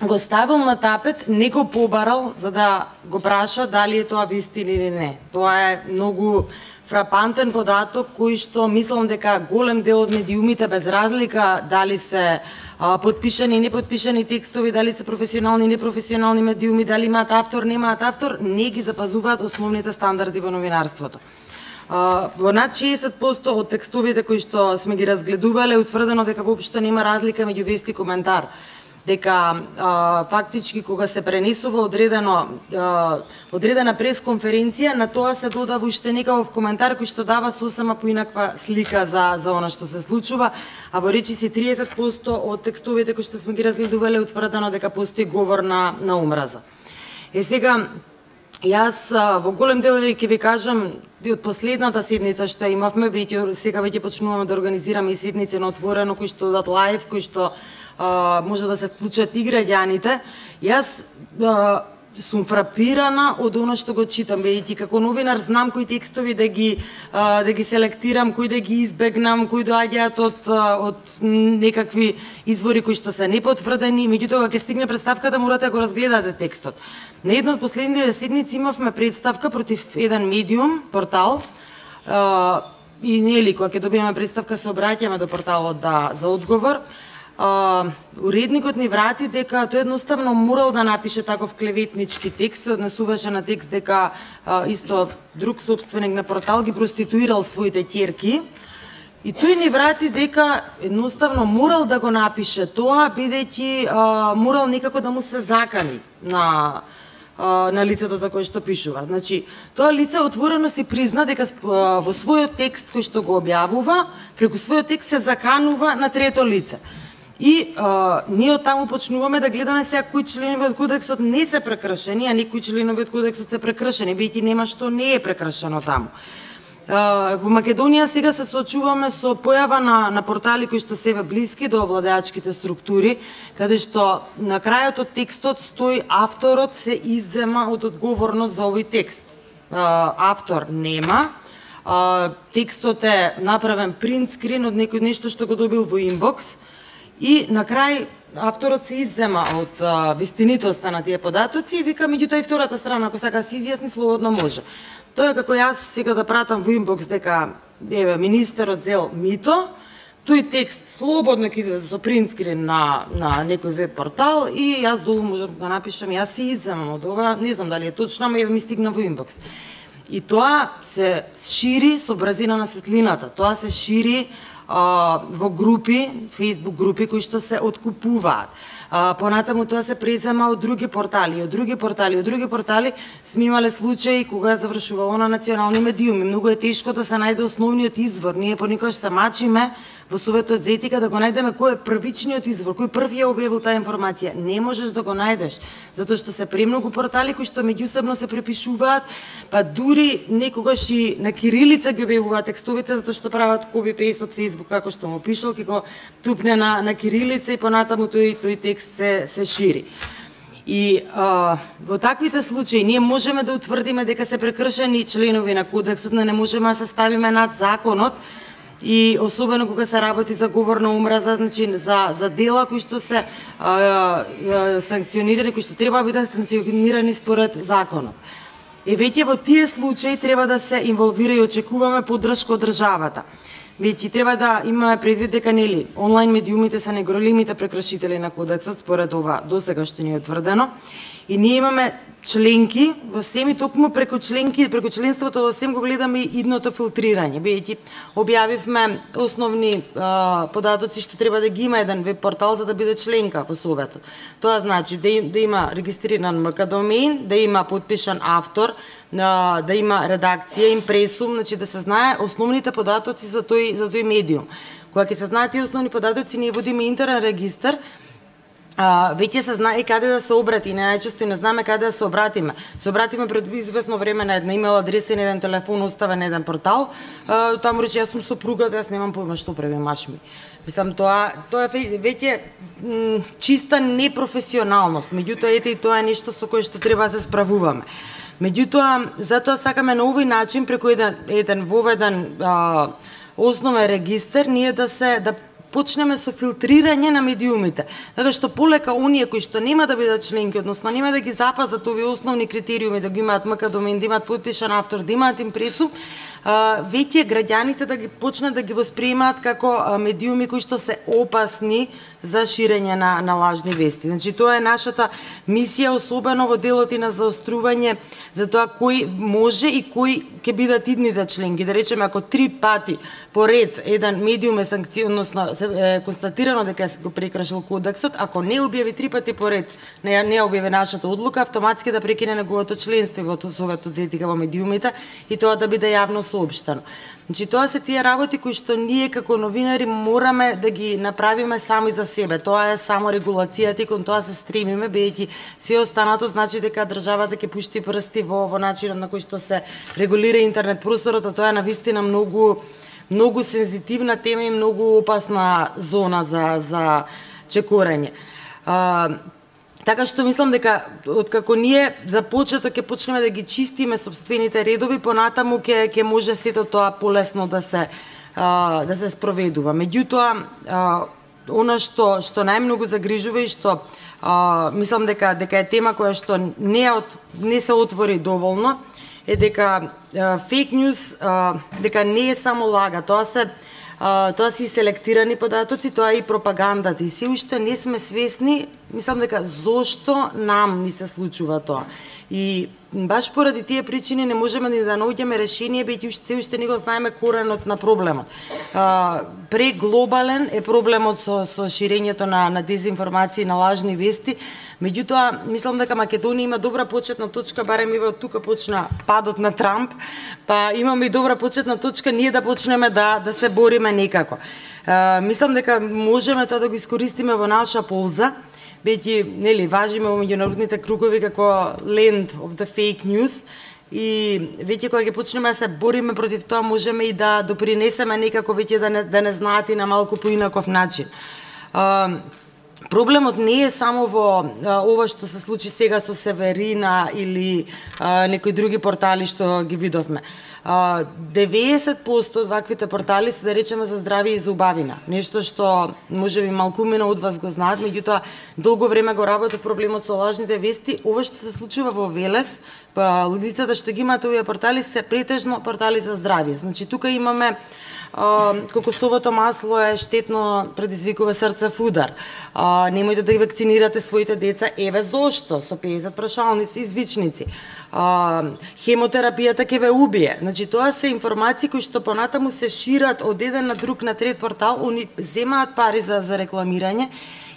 го ставил на тапет, не го побарал за да го праша дали е тоа вистина или не. Тоа е многу фрапантен податок кој што мислам дека голем дел од медиумите без разлика дали се а, подпишани и неподпишани текстови, дали се професионални и непрофесионални медиуми, дали имаат автор, немаат автор, не ги запазуваат основните стандарди во новинарството. А, во над шеесет проценти од текстовите кои што сме ги разгледувале утврдено дека воопшто нема разлика меѓу вест и коментар. Дека а, фактички кога се пренесува одредено а, одредена пресконференција, на тоа се додава уште некаков коментар кој што дава сосема поинаква слика за за она што се случува, а во речиси триесет проценти од текстовите кои што сме ги разгледувале утврдено дека постои говор на на омраза. Е сега јас во голем дел ќе ви кажам од последната седница што имавме, веќе сега веќе почнуваме да организираме и седници на отворено кои што дадат лајв, кои што Uh, може да се вклучат и граѓаните. Јас uh, сум фрапирана од оно што го читам, бидејќи како новинар знам кои текстови да ги uh, да ги селектирам, кои да ги избегнам, кои доаѓаат од uh, од некакви извори кои што се непотврдени, меѓутоа кога ќе стигне представката морате да го разгледате текстот. На една од последните седници имавме представка против еден медиум, портал, uh, и нели кога ќе добиеме представка се обраќаме до порталот да за одговор. Uh, уредникот ни врати дека тој едноставно морал да напише таков клеветнички текст, се однесуваше на текст дека uh, исто друг собственик на портал ги проституирал своите ќерки И тој ни врати дека едноставно морал да го напише тоа, бидејќи морал некако да му се закани на на лицето за кое што пишува. Значи, тоа лице отворено си призна дека во својот текст кој што го објавува, преку својот текст се заканува на трето лице. И а, ние од таму почнуваме да гледаме сега кои членови од кодексот не се прекршени, а некои членови од кодексот се прекршени, бидејќи нема што не е прекршено таму. Uh, во Македонија сега се соочуваме со појава на, на портали кои што се блиски до владеачките структури, каде што на крајот од текстот стои авторот се иззема од одговорност за овој текст. Uh, автор нема, uh, текстот е направен принт скрин од некој нешто што го добил во инбокс и на крај авторот се иззема од uh, вистинитоста на тие податоци и вика меѓутоа и втората страна ако сака се изјасни слободно може. Тоа е како јас сега да пратам во инбокс дека еве министерот зел мито, тој текст слободно ќе излезе со принтскрин на на некој веб портал и јас долу можам да напишам јас се изземам од ова, не знам дали е точно, ама еве ми стигна во инбокс. И тоа се шири со брзина на светлината. Тоа се шири а, во групи, Facebook групи кои што се откупуваат. А, понатаму тоа се презема од други портали, од други портали, од други портали сме имале случаи кога завршувало на национални медиуми. Многу е тешко да се најде основниот извор. Ние понекогаш се мачиме во Советот за етика да го најдеме кој е првичниот извор, кој први ја објавил таа информација. Не можеш да го најдеш, затоа што се премногу портали кои што меѓусебно се препишуваат, па дури некогаш и на кирилица ги објавуваат текстовите затоа што прават копи-пейст од Facebook како што му пишал, ќе го тупне на на кирилица и понатаму тој тој текст се се шири. И а, во таквите случаи ние можеме да утврдиме дека се прекршени членови на кодексот, но не можеме да се ставиме над законот. И особено кога се работи за говор на омраза, значи за за дела кои што се а, а, санкционирани, кои што треба да бидат санкционирани според законот. И веќе во тие случаи треба да се инволвира и очекуваме поддршка од државата. Веќе треба да имаме предвид дека нели онлайн медиумите се неголемите прекршители на кодексот според ова досега што ни е утврдено. И ние имаме членки во СЕМ и токму преку членки, преку членството во СЕМ го гледаме и идното филтрирање. Бидејќи објавивме основни а, податоци што треба да ги има еден веб портал за да биде членка во Советот. Тоа значи да, да има регистриран МК домен, да има подпишан автор, а, да има редакција, импресум, значи да се знае основните податоци за тој за тој медиум. Кога ќе се знаат тие основни податоци, ние водиме интерен регистар. А, веќе се знае каде да се обрати, не најчесто и не знаме каде да се обратиме. Се обратиме пред известно време на една имейл адреса и на еден телефон оставен на еден портал. А, таму рече јас сум сопругата, јас немам појма што прави маш ми. Мислам тоа тоа е веќе чиста непрофесионалност. Меѓутоа ете и тоа е нешто со кое што треба да се справуваме. Меѓутоа затоа сакаме на овој начин преку еден еден воведен а, основен регистар ние да се да почнеме со филтрирање на медиумите, така што полека оние кои што нема да бидат членки, односно нема да ги запазат овие основни критериуми, да ги имаат МК домен, да имаат подпишан автор, да имаат импресум, веќе граѓаните да ги почнат да ги восприемаат како медиуми кои што се опасни за ширење на, на лажни вести. Значи, тоа е нашата мисија, особено во делот и на заострување за тоа кој може и кои ќе бидат идните членки. Да речеме, ако три пати поред еден медиум е санкцион, односно е констатирано дека се го прекршил кодексот, ако не објави три пати поред, не, не објави нашата одлука, автоматски да прекине неговото членство во Советот за етика во медиумите и тоа да биде јавно соопштено. Значи, тоа се тие работи кои што ние како новинари мораме да ги направиме сами за себе. Тоа е само регулацијата и кон тоа се стремиме, бидејќи се останато значи дека државата ќе пушти прсти во, во начинот на кој што се регулира интернет просторот, а тоа е навистина многу многу сензитивна тема и многу опасна зона за за чекорање. А, Така што мислам дека откако ние за почеток ќе почнеме да ги чистиме собствените редови, понатаму ќе ќе може сето тоа полесно да се а, да се спроведува. Меѓутоа, а, она што што најмногу загрижува и што а, мислам дека дека е тема која што не от, не се отвори доволно е дека фейк ньюс дека не е само лага, тоа се Uh, тоа се и селектирани податоци, тоа е и пропагандата. И се уште не сме свесни мислам дека зошто нам ни се случува тоа. И баш поради тие причини не можеме ни да наоѓаме решение, бидејќи уште се уште не го знаеме коренот на проблемот. А, преглобален е проблемот со со ширењето на на дезинформации, на лажни вести. Меѓутоа, мислам дека Македонија има добра почетна точка, барем и од тука почна падот на Трамп, па имаме и добра почетна точка ние да почнеме да да се бориме некако. А, мислам дека можеме тоа да го искористиме во наша полза, бидејќи нели важиме во меѓународните кругови како land of the fake news, и веќе кога ќе почнеме да се бориме против тоа, можеме и да допринесеме некако веќе да не, да не знаат и на малку поинаков начин. А, проблемот не е само во а, ова што се случи сега со Северина или а, некои други портали што ги видовме. А, деветдесет проценти од ваквите портали се, да речеме, за здравје и за убавина. Нешто што можеби малкумина од вас го знаат, меѓутоа долго време го работев проблемот со лажните вести. Ова што се случува во Велес, па лицата што ги имаат овие портали се претежно портали за здравје. Значи тука имаме Uh, кокосовото масло е штетно, предизвикува срцев удар. Uh, немојте да ги вакцинирате своите деца, еве зошто, со педесет прашалници и звичници. Uh, хемотерапијата ќе ве убие. Значи тоа се информации кои што понатаму се шират од еден на друг на трет портал, они земаат пари за за рекламирање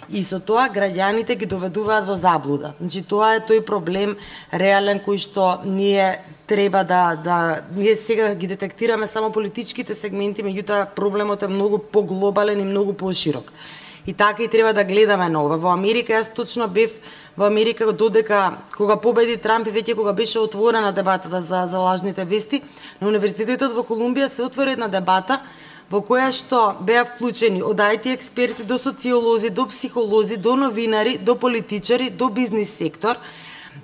и со тоа граѓаните ги доведуваат во заблуда. Значи тоа е тој проблем реален кој што ние треба да да ние сега ги детектираме само политичките сегменти, меѓутоа проблемот е многу поглобален и многу поширок. И така и треба да гледаме на ова. Во Америка јас точно бев во Америка додека кога победи Трамп и веќе кога беше отворена дебатата за за лажните вести, на Универзитетот во Колумбија се отвори една дебата во која што беа вклучени од ай ти експерти до социолози, до психолози, до новинари, до политичари, до бизнис сектор,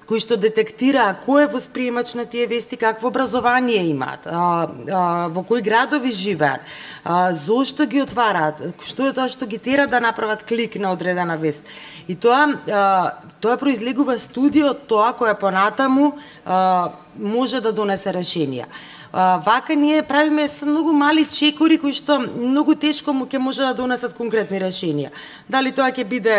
кои што детектираа кој е восприемач на тие вести, какво образование имаат, а, а, во кои градови живеат, а, зошто ги отвараат, што е тоа што ги тера да направат клик на одредена вест. И тоа а, тоа произлегува студија од тоа која понатаму а, може да донесе решенија. Uh, вака ние правиме со многу мали чекори кои што многу тешко му ќе може да донесат конкретни решенија. Дали тоа ќе биде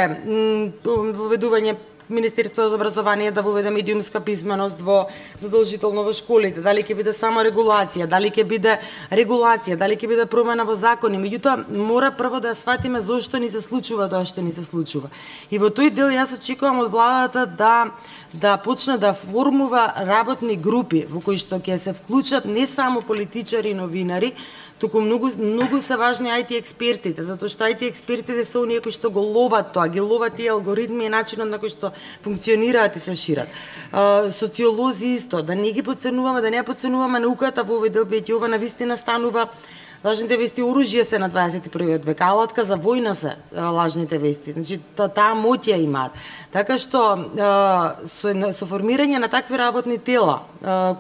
воведување Министерството за образование да воведе медиумска писменост во задолжително во школите, дали ќе биде само регулација, дали ќе биде регулација, дали ќе биде промена во закони, меѓутоа мора прво да сватиме зошто ни се случува тоа што ни се случува. И во тој дел јас очекувам од владата да да почне да формува работни групи во кои што ќе се вклучат не само политичари и новинари, туку многу многу се важни ай ти експертите, затоа што ай ти експертите се оние кои што го ловат тоа, ги ловат тие алгоритми и начинот на кој што функционираат и се шират. Uh, социолози исто, да не ги потценуваме, да не ја потценуваме науката во овој дел, бидејќи ова навистина станува лажните вести оружје се на дваесет и првиот век, алатка за војна се лажните вести. Значи таа моќ ја имаат. Така што со, со формирање на такви работни тела,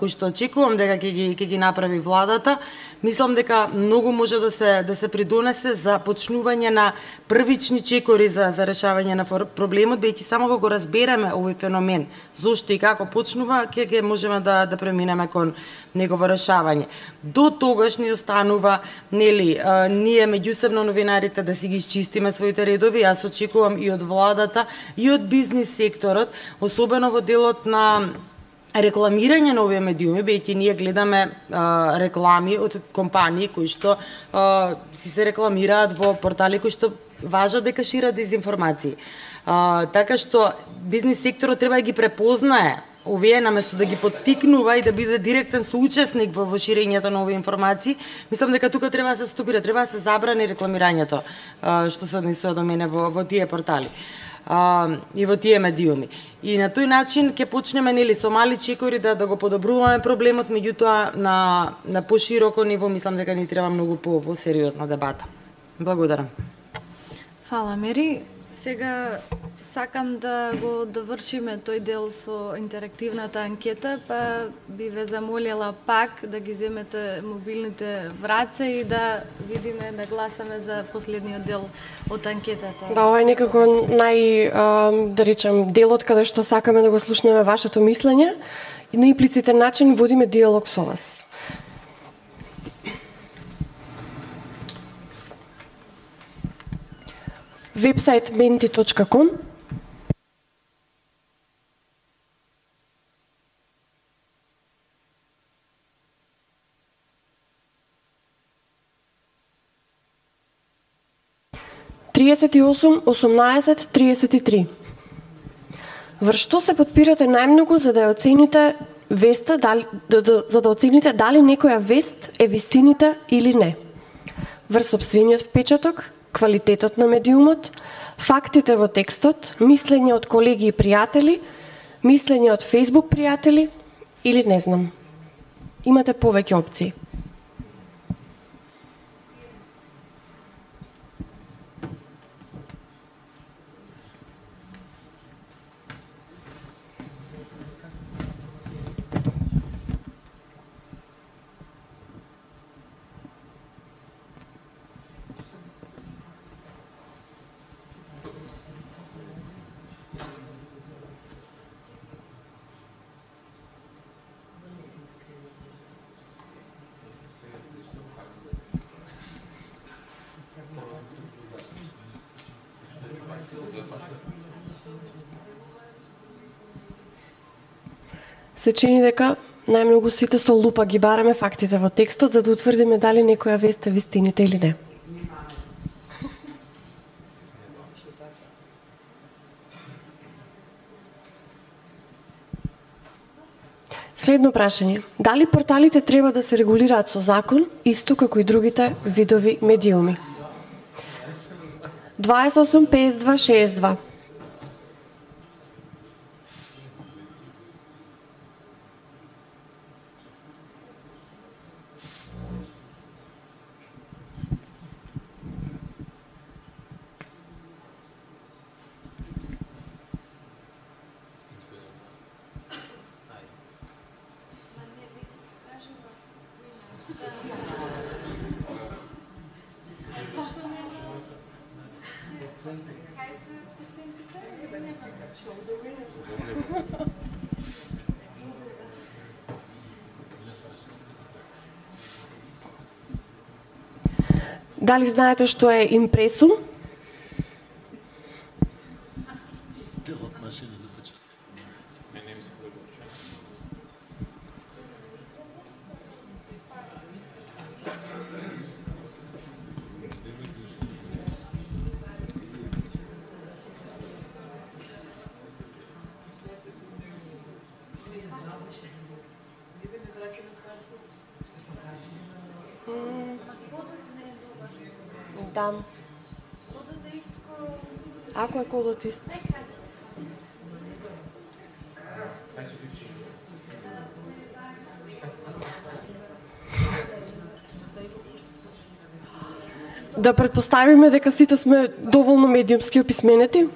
кои што очекувам дека ќе ги ќе ги направи владата, мислам дека многу може да се да се придонесе за почнување на првични чекори за за решавање на проблемот, бидејќи само кога го разбереме овој феномен, зошто и како почнува, ќе ќе можеме да да преминеме кон негово решавање. До тогаш ни останува нели а, ние меѓусебно новинарите да си ги исчистиме своите редови. Јас очекувам и од владата и од бизнис секторот, особено во делот на рекламирање на овие медиуми, бидејќи ние гледаме а, реклами од компании кои што а, си се рекламираат во портали кои што важат дека шират дезинформации. А, така што бизнис секторот треба да ги препознае овие, наместо да ги поттикнува и да биде директен соучесник во, во ширењето на овие информации. Мислам дека тука треба да се стопира, треба да се забрани рекламирањето а, што се однесува до мене во, во тие портали. Uh, и во тие медиуми. И на тој начин ќе почнеме нели со мали чекори да да го подобруваме проблемот, меѓутоа на на пошироко ниво мислам дека ни треба многу по, по сериозна дебата. Благодарам. Фала, Мери. Сега сакам да го довршиме тој дел со интерактивната анкета, па би ве замолила пак да ги земете мобилните враца и да видиме, да гласаме за последниот дел од анкетата. Да, ова е некако нај, да речем, делот каде што сакаме да го слушнеме вашето мислење и на имплицитен начин водиме диалог со вас. Вебсайт мenti точка ком. триесет и осум, осумнаесет, триесет и три. Врз што се потпирате најмногу за да ја оцените веста, дали, да, да, за да оцените дали некоја вест е вистинита или не? Врз сопствениот впечаток, квалитетот на медиумот, фактите во текстот, мислење од колеги и пријатели, мислење од Facebook пријатели или не знам. Имате повеќе опции. Се чини дека најмногу сите со лупа ги бараме фактите во текстот за да утврдиме дали некоја вест е вистинита или не. Следно прашање. Дали порталите треба да се регулираат со закон, исто како и другите видови медиуми? дваесет и осум, песет и два, шеесет и два. Дали знаете што е импресум? Да. Ако е кодот ист. Да предпоставиме дека сите сме доволно медиумски описменети?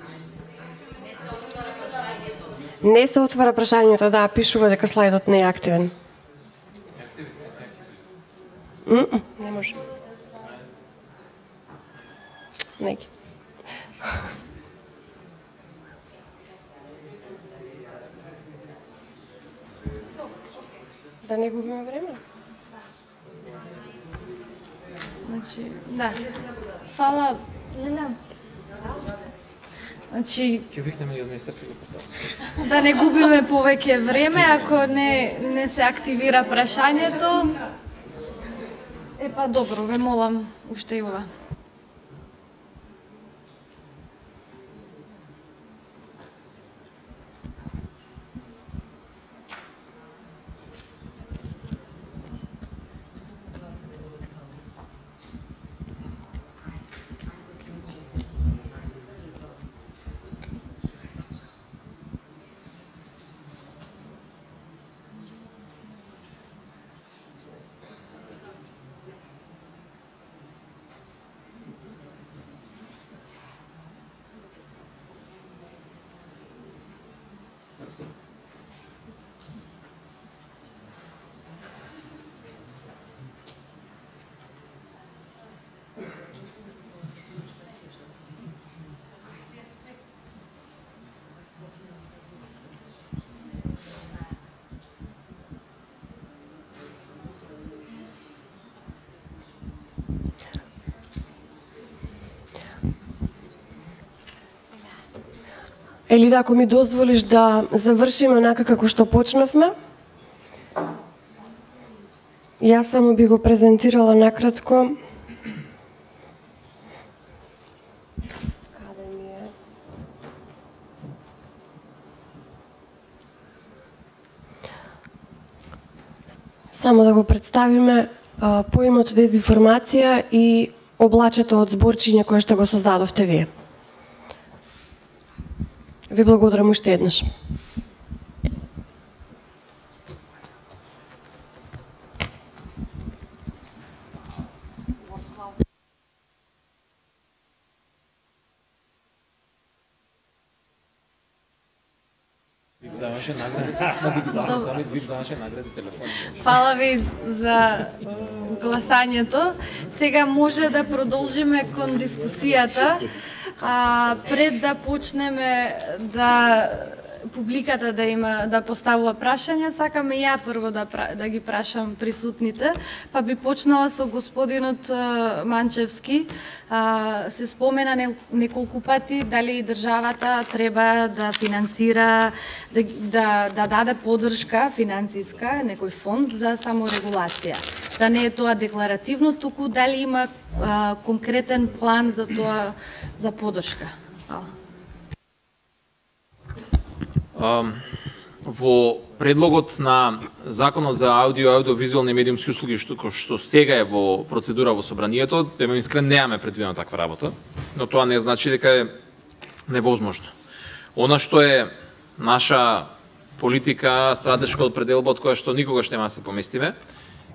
Не се отвара прашањето, да, пишува дека слайдот не е активен. Mm-mm, не може. Неки. Да не губиме време? Значи, да. Фала, Лиля. Значи, ќе викнеме и од Министерството за потасија. Да не губиме повеќе време, ако не не се активира прашањето. Е па добро, ве молам уште и ова. Или да, ако ми дозволиш да завршиме онака како што почнавме, јас само би го презентирала накратко Само да го представиме а, поимот дезинформација и облачето од зборчиња кое што го создадовте вие. Ви благодарам уште еднаш. Фала ви за гласањето. Сега може да продолжиме кон дискусијата. А, пред да почнеме да публиката да има да поставува прашања, сакаме ја прво да да ги прашам присутните, па би почнала со господинот Манчевски. А, се спомена неколку пати дали државата треба да финансира, да, да, да даде поддршка финансиска, некој фонд за саморегулација. Да не е тоа декларативно, туку дали има а, конкретен план за тоа, за поддршка. Um, во предлогот на Законот за аудио и аудиовизуални медиумски услуги, што, што сега е во процедура во собранието, да имам искрен, немаме предвидено таква работа, но тоа не значи дека е невозможно. Она што е наша политика, стратешка определба од која што никогаш нема да се поместиме,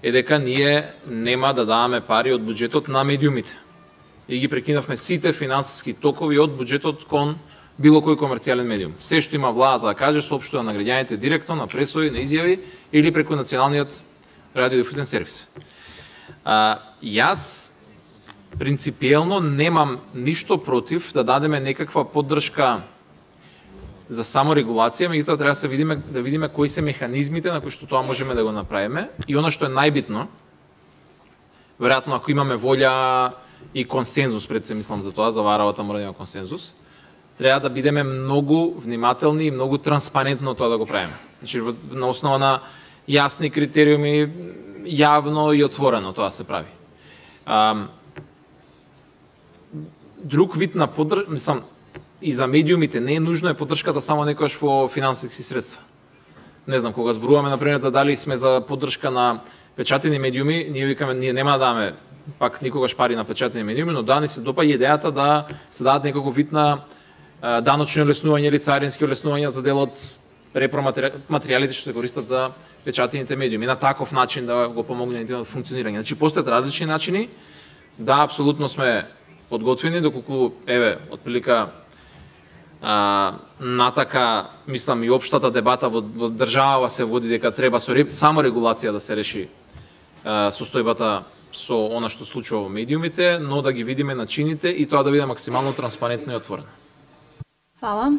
е дека ние нема да даваме пари од буџетот на медиумите. И ги прекинавме сите финансиски токови од буџетот кон било кој комерцијален медиум. Се што има владата да каже, соопштува на граѓаните директно, на пресови, на изјави или преку националниот радиодифузен сервис. А, јас принципиелно немам ништо против да дадеме некаква поддршка за саморегулација, меѓутоа треба да се видиме да видиме кои се механизмите на кои што тоа можеме да го направиме и она што е најбитно, веројатно ако имаме волја и консензус, пред се мислам за тоа, за варавата мора да има консензус, треба да бидеме многу внимателни и многу транспарентно тоа да го правиме. Значи, на основа на јасни критериуми, јавно и отворено тоа се прави. А, друг вид на поддршка, мислам, и за медиумите не е нужно е поддршката само некојаш во финансиски средства. Не знам, кога зборуваме, например, за дали сме за поддршка на печатени медиуми, ние викаме, ние нема да даваме пак никогаш пари на печатени медиуми, но да ни се допа и идејата да се дадат неколку вид на даночни олеснувања или царински олеснувања за дел од репроматеријалите што се користат за печатените медиуми. На таков начин да го помогне на функционирање. Значи, постојат различни начини. Да, апсолутно сме подготвени, доколку, еве, отприлика а, натака, мислам, и општата дебата во, во држава се води дека треба со само регулација да се реши а, состојбата со она што случува во медиумите, но да ги видиме начините и тоа да биде максимално транспарентно и отворено. Фала.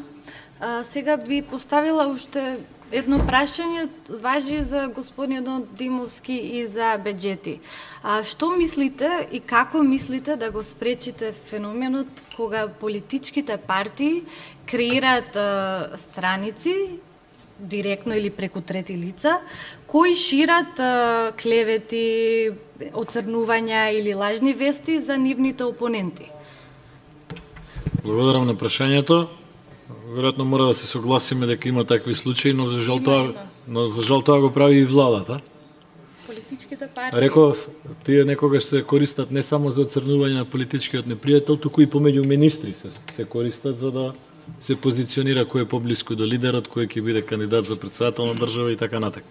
А, сега би поставила уште едно прашање, важи за господинот Димовски и за беџети. А, што мислите и како мислите да го спречите феноменот кога политичките партии креираат а, страници, директно или преку трети лица, кои шират а, клевети, оцрнувања или лажни вести за нивните опоненти? Благодарам на прашањето. Веројатно мора да се согласиме дека има такви случаи, но за жал тоа, но за жал тоа го прави и владата. Политичките партии. Реков, тие некогаш се користат не само за оцрнување на политичкиот непријател, туку и помеѓу министри се, се користат за да се позиционира кој е поблиску до лидерот, кој ќе биде кандидат за претседател на држава и така натак.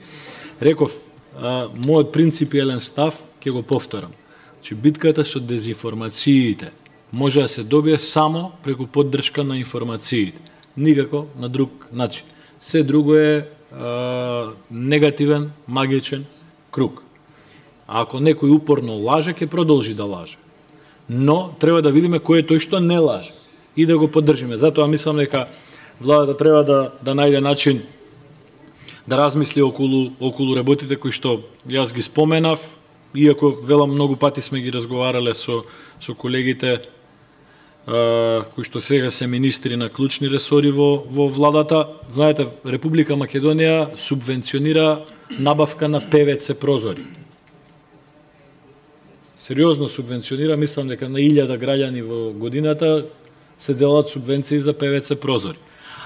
Реков, а, мојот принципиелен став ќе го повторам. Че битката со дезинформациите може да се добие само преку поддршка на информациите. Никако на друг начин. Се друго е а, негативен, магичен круг. А ако некој упорно лаже, ќе продолжи да лаже. Но треба да видиме кој е тој што не лаже и да го поддржиме. Затоа мислам дека владата треба да да најде начин да размисли околу околу работите кои што јас ги споменав, иако велам многу пати сме ги разговарале со со колегите кои што сега се министри на клучни ресори во, во владата. Знаете, Република Македонија субвенционира набавка на Пе Ве Це прозори. Сериозно субвенционира, мислам дека на илјада граѓани во годината се делат субвенции за Пе Ве Це прозори.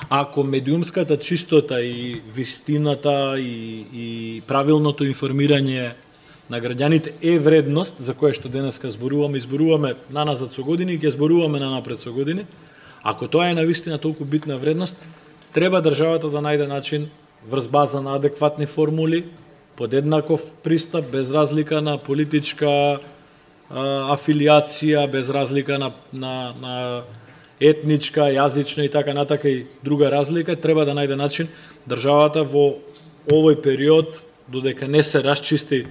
Ако медиумската чистота и вистината и, и правилното информирање на граѓаните е вредност за која што денеска зборуваме, изборуваме наназад со години и ќе зборуваме на напред со години, ако тоа е навистина толку битна вредност, треба државата да најде начин врз база на адекватни формули, под еднаков пристап, без разлика на политичка а, афилиација, без разлика на, на, на етничка, јазична и така натака и друга разлика, треба да најде начин државата во овој период, додека не се расчисти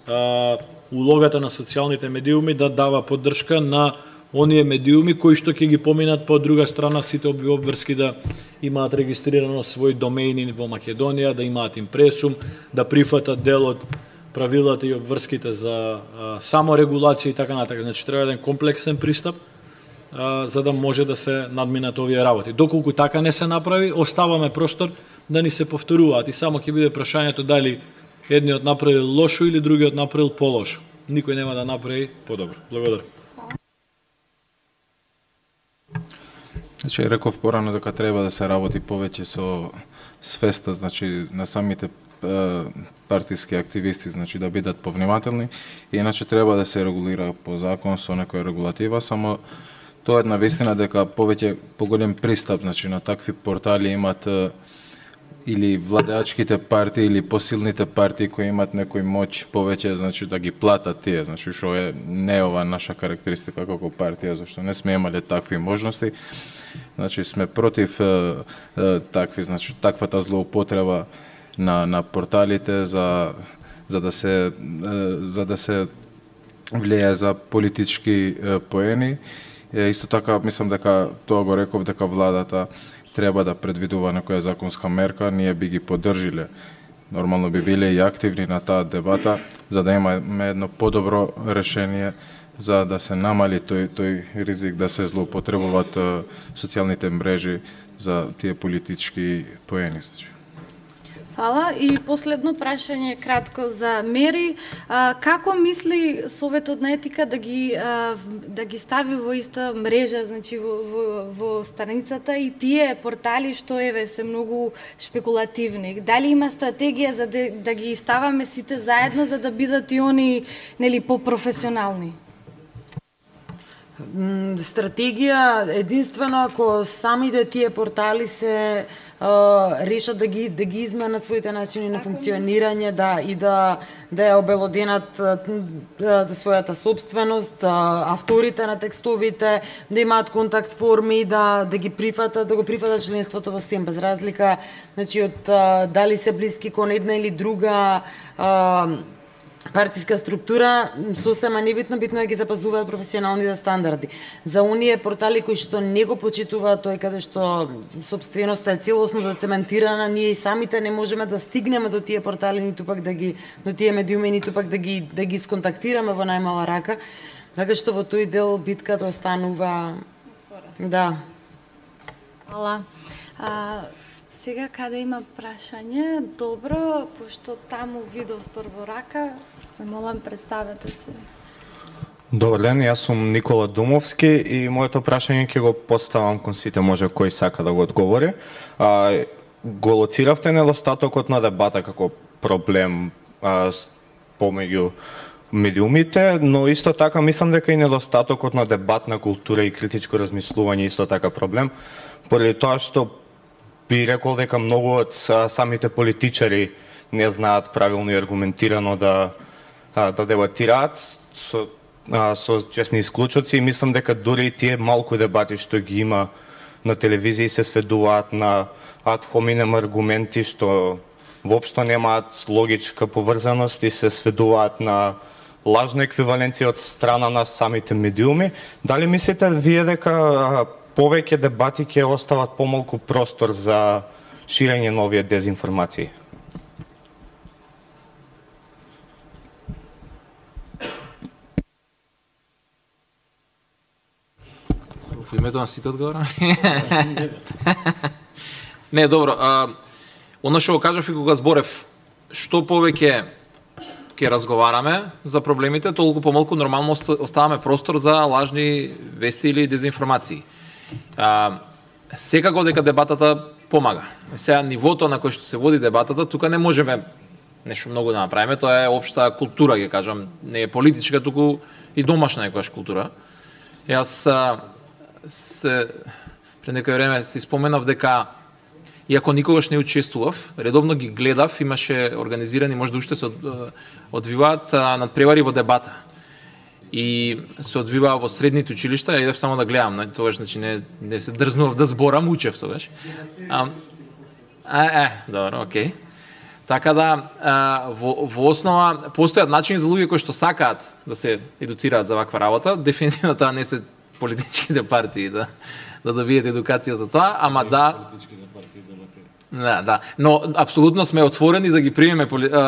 а, улогата на социјалните медиуми, да дава поддршка на оние медиуми кои што ќе ги поминат по друга страна сите обврски да имаат регистрирано свој домејни во Македонија, да имаат импресум, да прифатат дел од правилата и обврските за а, саморегулација и така натака. Значи треба еден комплексен пристап а, за да може да се надминат овие работи. Доколку така не се направи, оставаме простор да ни се повторуваат и само ќе биде прашањето дали едниот направил лошо или другиот направил полошо. Никој нема да направи подобро. Благодарам. Значи, реков порано дека треба да се работи повеќе со свеста, значи, на самите е, партиски активисти, значи, да бидат повнимателни, и иначе треба да се регулира по закон со некоја регулатива, само тоа е на вистина дека повеќе поголем пристап, значи, на такви портали имат е, или владеачките партии или посилните партии кои имат некој моќ повеќе, значи да ги платат тие, значи што е не ова наша карактеристика како партија, зашто не сме имале такви можности. Значи сме против е, е, такви, значи таквата злоупотреба на на порталите за за да се е, за да се влијае за политички е, поени. Е, исто така мислам дека тоа го реков дека владата треба да предвидува некоја законска мерка, ние би ги поддржиле. Нормално би биле и активни на таа дебата, за да имаме едно подобро решение за да се намали тој тој ризик да се злоупотребуваат социјалните мрежи за тие политички поени. Фала. И последно прашање кратко за Мери. А, како мисли Советот на етика да ги а, да ги стави во иста мрежа, значи во, во, во страницата и тие портали што еве се многу шпекулативни? Дали има стратегија за да, да ги ставаме сите заедно за да бидат и они, нели, попрофесионални? Стратегија единствено ако самите тие портали се решат да ги да ги изменат своите начини на функционирање, да и да да ја обелоденат да, својата собственост, авторите на текстовите, да имаат контакт форми, да да ги прифатат, да го прифатат членството во СЕМ без разлика, значи од дали се блиски кон една или друга а, партиска структура, сосема небитно, битно е ги запазуваат професионалните стандарди. За оние портали кои што не го почитуваат тој каде што собственоста е целосно зацементирана, ние и самите не можеме да стигнеме до тие портали, ниту пак да ги до тие медиуми, ниту пак да ги да ги сконтактираме во најмала рака, така што во тој дел битката останува. Да. Фала. А, сега каде има прашање? Добро, пошто таму видов прво рака, ме молам, представете се. Добар ден, јас сум Никола Думовски и моето прашање ќе го поставам кон сите, може кој сака да го одговори. А, го лоциравте недостатокот на дебата како проблем а, помеѓу медиумите, но исто така мислам дека и недостатокот на дебатна култура и критичко размислување исто така проблем, поради тоа што би рекол дека многу од самите политичари не знаат правилно и аргументирано да да дебатираат со со честни исклучоци, и мислам дека дури и тие малку дебати што ги има на телевизија се сведуваат на ад хоминем аргументи што воопшто немаат логичка поврзаност и се сведуваат на лажна еквиваленција од страна на самите медиуми. Дали мислите вие дека повеќе дебати ќе остават помалку простор за ширење на овие дезинформации? Во името на сите одговорам? Не, добро. А, оно што го кажав и кога зборев, што повеќе ќе разговараме за проблемите, толку помалку нормално оставаме простор за лажни вести или дезинформации. А, секако дека дебатата помага. Сега нивото на кој што се води дебатата, тука не можеме нешто многу да направиме, тоа е општа култура, ќе кажам, не е политичка, туку и домашна некојаш култура. Јас се пред некој време си споменав дека иако никогаш не учествував, редовно ги гледав, имаше организирани, може да уште се одвиваат надпревари во дебата. И се одвива во средните училишта, ја идев само да гледам, тогаш значи не, не се дрзнував да зборам, учев тогаш. А, а, е, добро, окей. Така да, а, во, во основа, постојат начини за луѓе кои што сакаат да се едуцираат за ваква работа, дефинитивно тоа не се политичките партии да, да добиете едукација за тоа, ама да... Да, да. Но апсолутно сме отворени да ги примеме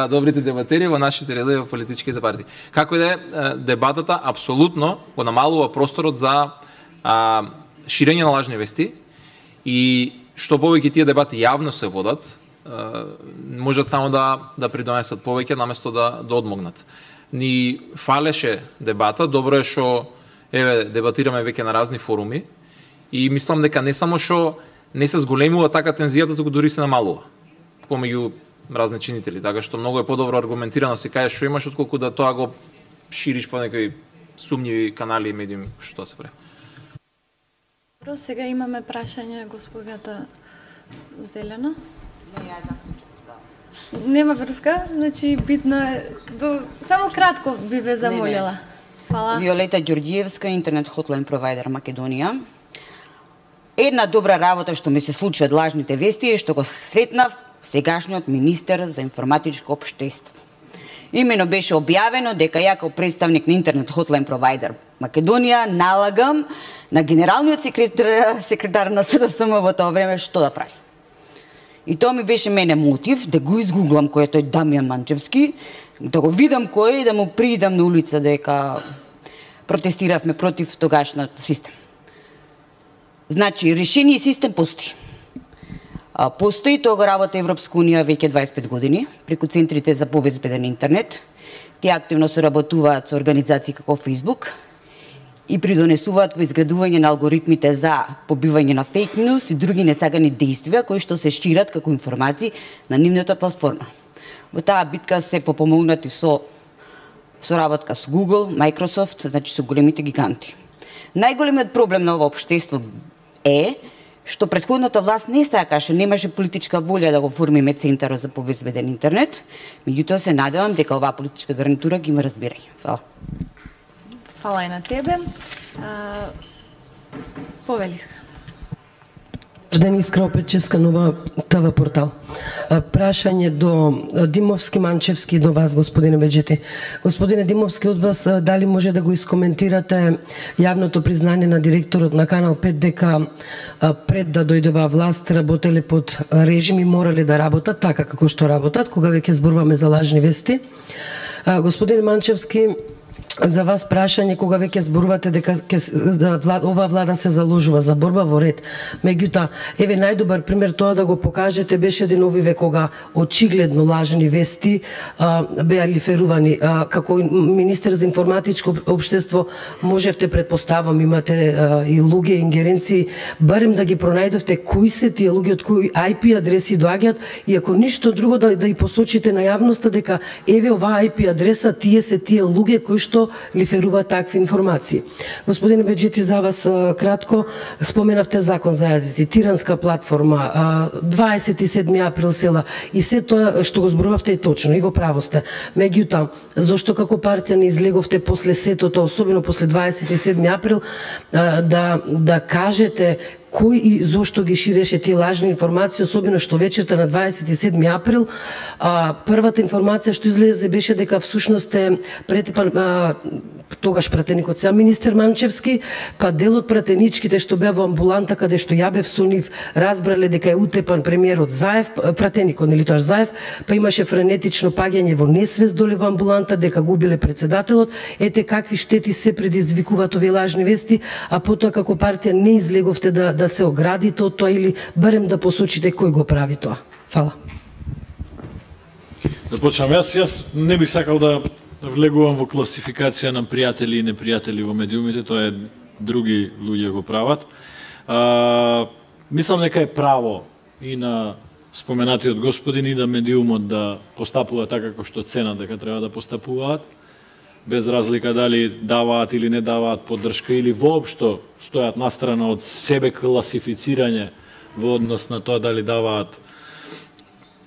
добрите дебатери во нашите редови во политичките партии. Како и да е, дебатата апсолутно го намалува просторот за а, ширење на лажни вести и што повеќе тие дебати јавно се водат, а, можат само да да придонесат повеќе наместо да да одмогнат. Ни фалеше дебата, добро е што еве дебатираме веќе на разни форуми и мислам дека не само што не се зголемува така тензијата, туку дури се намалува помеѓу разни чинители, така што многу е подобро аргументирано се кај што имаш отколку да тоа го шириш по некои сумњиви канали и медиуми што се прави. Добро, сега имаме прашање госпогата Зелена. Не, ја заклучок, да. Нема врска, значи битно е до само кратко би ве замолила. Фала. Виолета Ѓорѓиевска, интернет хотлайн провайдер Македонија. Една добра работа што ми се случи од лажните вести е што го сретнав сегашниот министер за информатичко општество. Имено беше објавено дека ја како представник на интернет хотлайн провайдер Македонија налагам на генералниот секретар, секретар на СДСМ во тоа време што да прави. И тоа ми беше мене мотив да го изгуглам кој е тој Дамјан Манчевски, да го видам кој е и да му приидам на улица дека протестиравме против тогашниот систем. Значи, решение систем постои. Постои, тоа го работа Европска Унија веќе дваесет и пет години, преку центрите за побезбеден интернет. Тие активно соработуваат со организации како Facebook и придонесуваат во изградување на алгоритмите за побивање на фейк ньюс и други несагани действија кои што се шират како информации на нивната платформа. Во таа битка се попомогнати со соработка со Google, Microsoft, значи со големите гиганти. Најголемиот проблем на ова општество е што претходната власт не сакаше, немаше политичка волја да го формиме Центарот за побезбеден интернет, меѓутоа се надевам дека оваа политичка гарнитура ги има разбирање. Фала. Фала и на тебе. А, Повелиска. Ден Искра Опеческа, Нова ТВ портал. Прашање до Димовски, Манчевски, до вас, господине Беџети. Господине Димовски, од вас дали може да го искоментирате јавното признање на директорот на Канал пет дека пред да дојде оваа власт работеле под режим и морале да работат така како што работат, кога веќе зборуваме за лажни вести. Господине Манчевски, за вас прашање кога веќе зборувате дека оваа влада се заложува за борба во ред. Меѓутоа, еве најдобар пример тоа да го покажете беше деновиве кога очигледно лажни вести а, беа лиферувани. А, како министер за информатичко општество можевте, предпоставам, имате а, и луѓе, ингеренции, барем да ги пронајдовте кои се тие луѓе, од кои ај пи адреси доаѓаат и ако ништо друго да, да и посочите на јавноста дека еве оваа ај пи адреса, тие се тие луѓе кои што лиферува такви информации. Господине Беџети, за вас кратко споменавте закон за јазици, тиранска платформа, дваесет и седми април села и се тоа што го зборувавте е точно и во право сте. Меѓутоа, зошто како партија не излеговте после сетото, особено после дваесет и седми април, да да кажете кој и зошто ги ширеше тие лажни информации, особено што вечерта на дваесет и седми април, а, првата информација што излезе беше дека всушност е претепан а, тогаш пратеникот сам министер Манчевски, па дел од пратеничките што беа во амбуланта каде што ја бев со нив, разбрале дека е утепан премиерот Заев, пратеникот нели тоа Заев, па имаше френетично паѓање во несвест доле во амбуланта дека губиле председателот. Ете какви штети се предизвикуваат овие лажни вести, а потоа како партија не излеговте да да се оградите од тоа или барем да посочите кој го прави тоа. Фала. Да почнам јас, јас не би сакал да влегувам во класификација на пријатели и непријатели во медиумите, тоа е други луѓе го прават. А, Мислам дека е право и на споменатиот господин и да медиумот да постапува така како што цена дека треба да постапуваат, без разлика дали даваат или не даваат поддршка или воопшто стојат настрана од себе класифицирање во однос на тоа дали даваат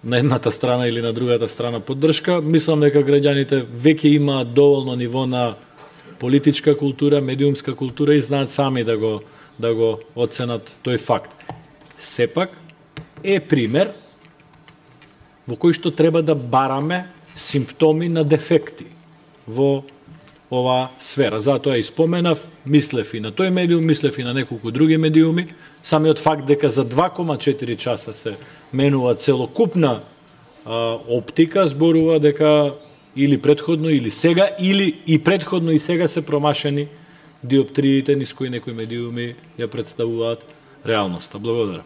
на едната страна или на другата страна поддршка. Мислам дека граѓаните веќе имаат доволно ниво на политичка култура, медиумска култура и знаат сами да го да го оценат тој факт. Сепак е пример во кој што треба да бараме симптоми на дефекти во оваа сфера. Затоа и споменав, мислев и на тој медиум, мислев и на неколку други медиуми. Самиот факт дека за два кома четири часа се менува целокупна а, оптика, зборува дека или предходно, или сега, или и предходно и сега се промашени диоптриите низ кои некои медиуми ја представуваат реалноста. Благодарам.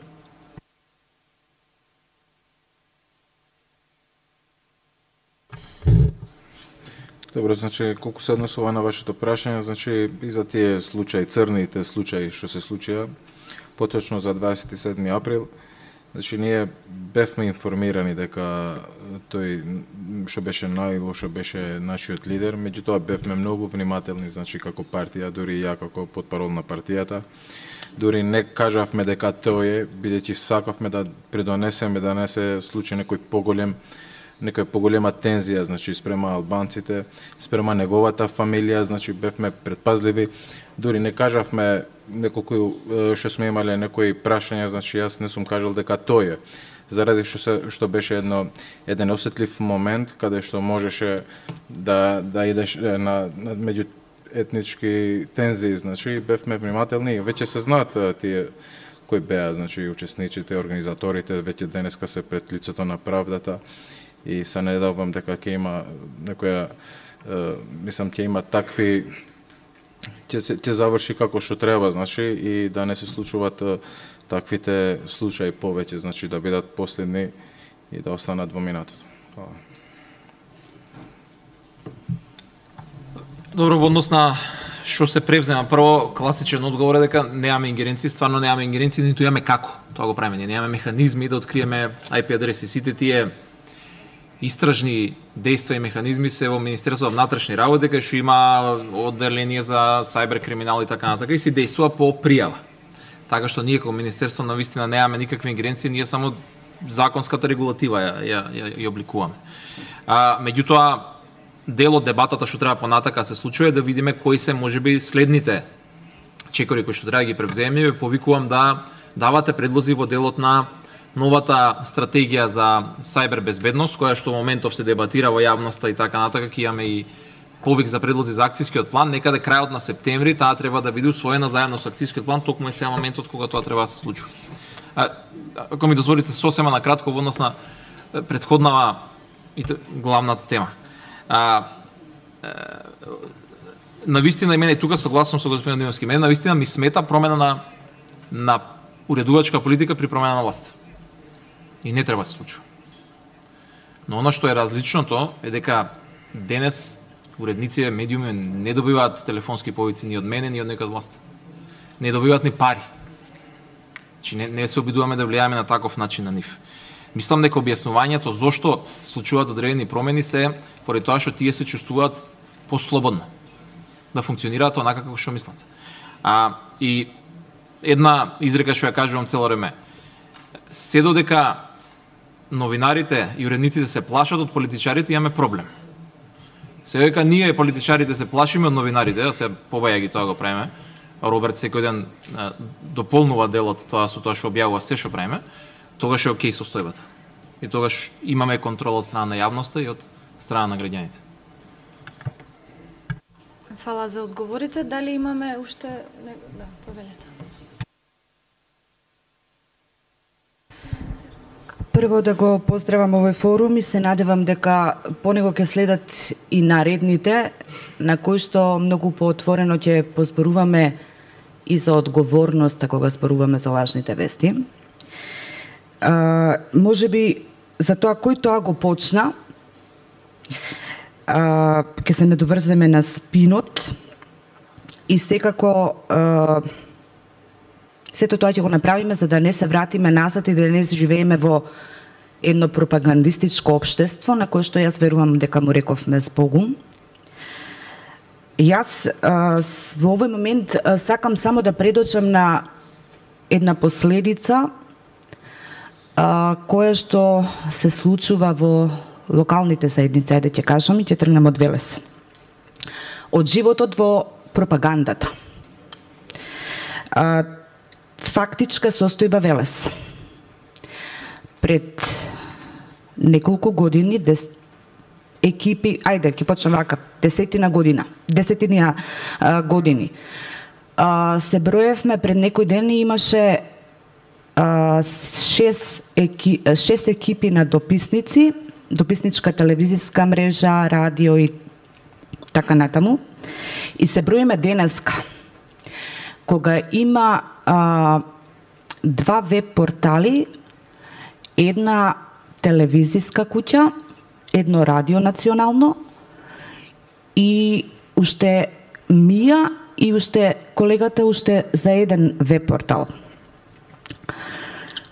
Добро, значи, колку се однесува на вашето прашање, значи, и за тие случаи, црните случаи што се случија, поточно за дваесет и седми април, значи, ние бевме информирани дека тој што беше најлошо беше нашиот лидер, меѓутоа бевме многу внимателни, значи, како партија, дури и ја како потпарол на партијата, дури не кажавме дека тој е, бидејќи сакавме да придонесеме да не се случи некој поголем некоја поголема тензија, значи, спрема албанците, спрема неговата фамилија, значи, бевме предпазливи. Дури не кажавме неколку што сме имале некои прашања, значи, јас не сум кажал дека тој е. Заради што се што беше едно еден осетлив момент каде што можеше да да идеш на, на меѓу етнички тензии, значи, бевме внимателни и веќе се знаат тие кои беа, значи, учесниците, организаторите, веќе денеска се пред лицето на правдата. И се надевам дека ќе има некоја, е, мислам, ќе има такви, ќе се ќе заврши како што треба, значи, и да не се случуваат таквите случаи повеќе, значи, да бидат последни и да останат во минатото. Хвала. Добро, во однос на што се превзема, прво класичен одговор е дека немаме ингеренции, стварно немаме ингеренции, ниту имаме како тоа го правиме. Ние немаме механизми да откриеме ај пи адреси. Сите тие истражни дејства и механизми се во Министерството на внатрешни работи, кај што има одделение за сајбер криминал и така натака и се дејствува по пријава. Така што ние како Министерство навистина немаме никакви ингеренции, ние само законската регулатива ја ја, ја, ја обликуваме. А меѓутоа дел од дебатата што треба понатака се случува е да видиме кои се можеби следните чекори кои што треба да ги превземе. Ве повикувам да давате предлози во делот на новата стратегија за сајбер безбедност, која што во моментов се дебатира во јавноста и така натака, ќе имаме и повик за предлози за акцијскиот план, некаде крајот на септември, таа треба да биде усвоена заедно со акцијскиот план, токму е сега моментот кога тоа треба да се случи. А, ако ми дозволите сосема на кратко во однос на претходнава и главната тема. А, навистина и мене тука согласувам со господин Димовски, мене навистина ми смета промена на на уредувачка политика при промена на власт. И не треба да се случува. Но она што е различното е дека денес уредници, медиуми не добиваат телефонски повици ни од мене, ни од некој од власт. Не добиваат ни пари. Значи не, не се обидуваме да влијаме на таков начин на нив. Мислам дека објаснувањето зошто случуваат одредени промени се поради тоа што тие се чувствуваат послободно да функционираат онака како што мислат. А и една изрека што ја кажувам цело време. Се додека новинарите и уредниците се плашат од политичарите, имаме проблем. Се дека ние политичарите се плашиме од новинарите, да се побаја ги тоа го правиме. Роберт секој ден а, дополнува делот тоа со тоа што објавува се што правиме, тогаш е окей состојбата. И тогаш имаме контрола од страна на јавноста и од страна на граѓаните. Фала за одговорите. Дали имаме уште... Да, повелете. Прво да го поздравам овој форум и се надевам дека по него ќе следат и наредните, на кои што многу поотворено ќе позборуваме и за одговорноста кога зборуваме за лажните вести. А, може би за тоа кој тоа го почна, а, ќе се недоврземе на спинот и секако а, Сето тоа ќе го направиме за да не се вратиме назад и да не живееме во едно пропагандистичко општество на кое што јас верувам дека му рековме збогум. Јас а, во овој момент а, сакам само да предочам на една последица а, која што се случува во локалните заедници, ајде ќе кажам и ќе тргнем од Велес. Од животот во пропагандата. А, фактичка состојба Велес. Пред неколку години дес, екипи, ајде ќе почнем вака, десетина година, десетина а, години. А, се броевме пред некој ден и имаше а, шест, еки, шест екипи на дописници, дописничка телевизиска мрежа, радио и така натаму. И се броиме денеска, кога има а, два веб портали, една телевизиска куќа, едно радио национално и уште Мија и уште колегата уште за еден веб портал.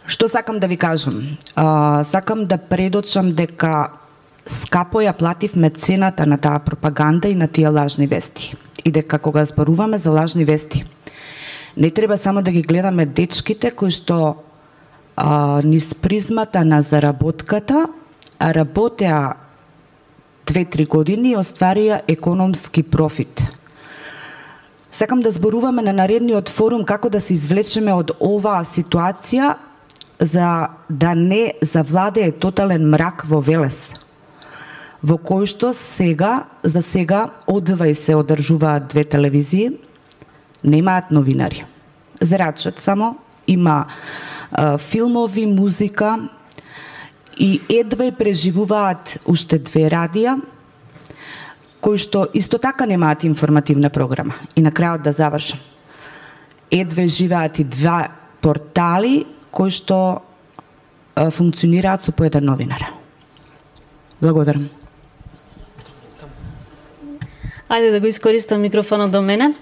Што сакам да ви кажам? А, сакам да предочам дека скапо ја плативме цената на таа пропаганда и на тие лажни вести. И дека кога зборуваме за лажни вести, не треба само да ги гледаме дечките кои што а, низ призмата на заработката работеа две-три години и остварија економски профит. Сакам да зборуваме на наредниот форум како да се извлечеме од оваа ситуација за да не завладее тотален мрак во Велес, во кој што сега, за сега, одва и се одржуваат две телевизии, немаат новинари. Зрачат само, има а, филмови, музика и едва и преживуваат уште две радија, кои што исто така немаат информативна програма. И на крајот да завршам. Едве живеат и два портали кои што а, функционираат со по еден новинар. Благодарам. Ајде да го искористам микрофонот до мене.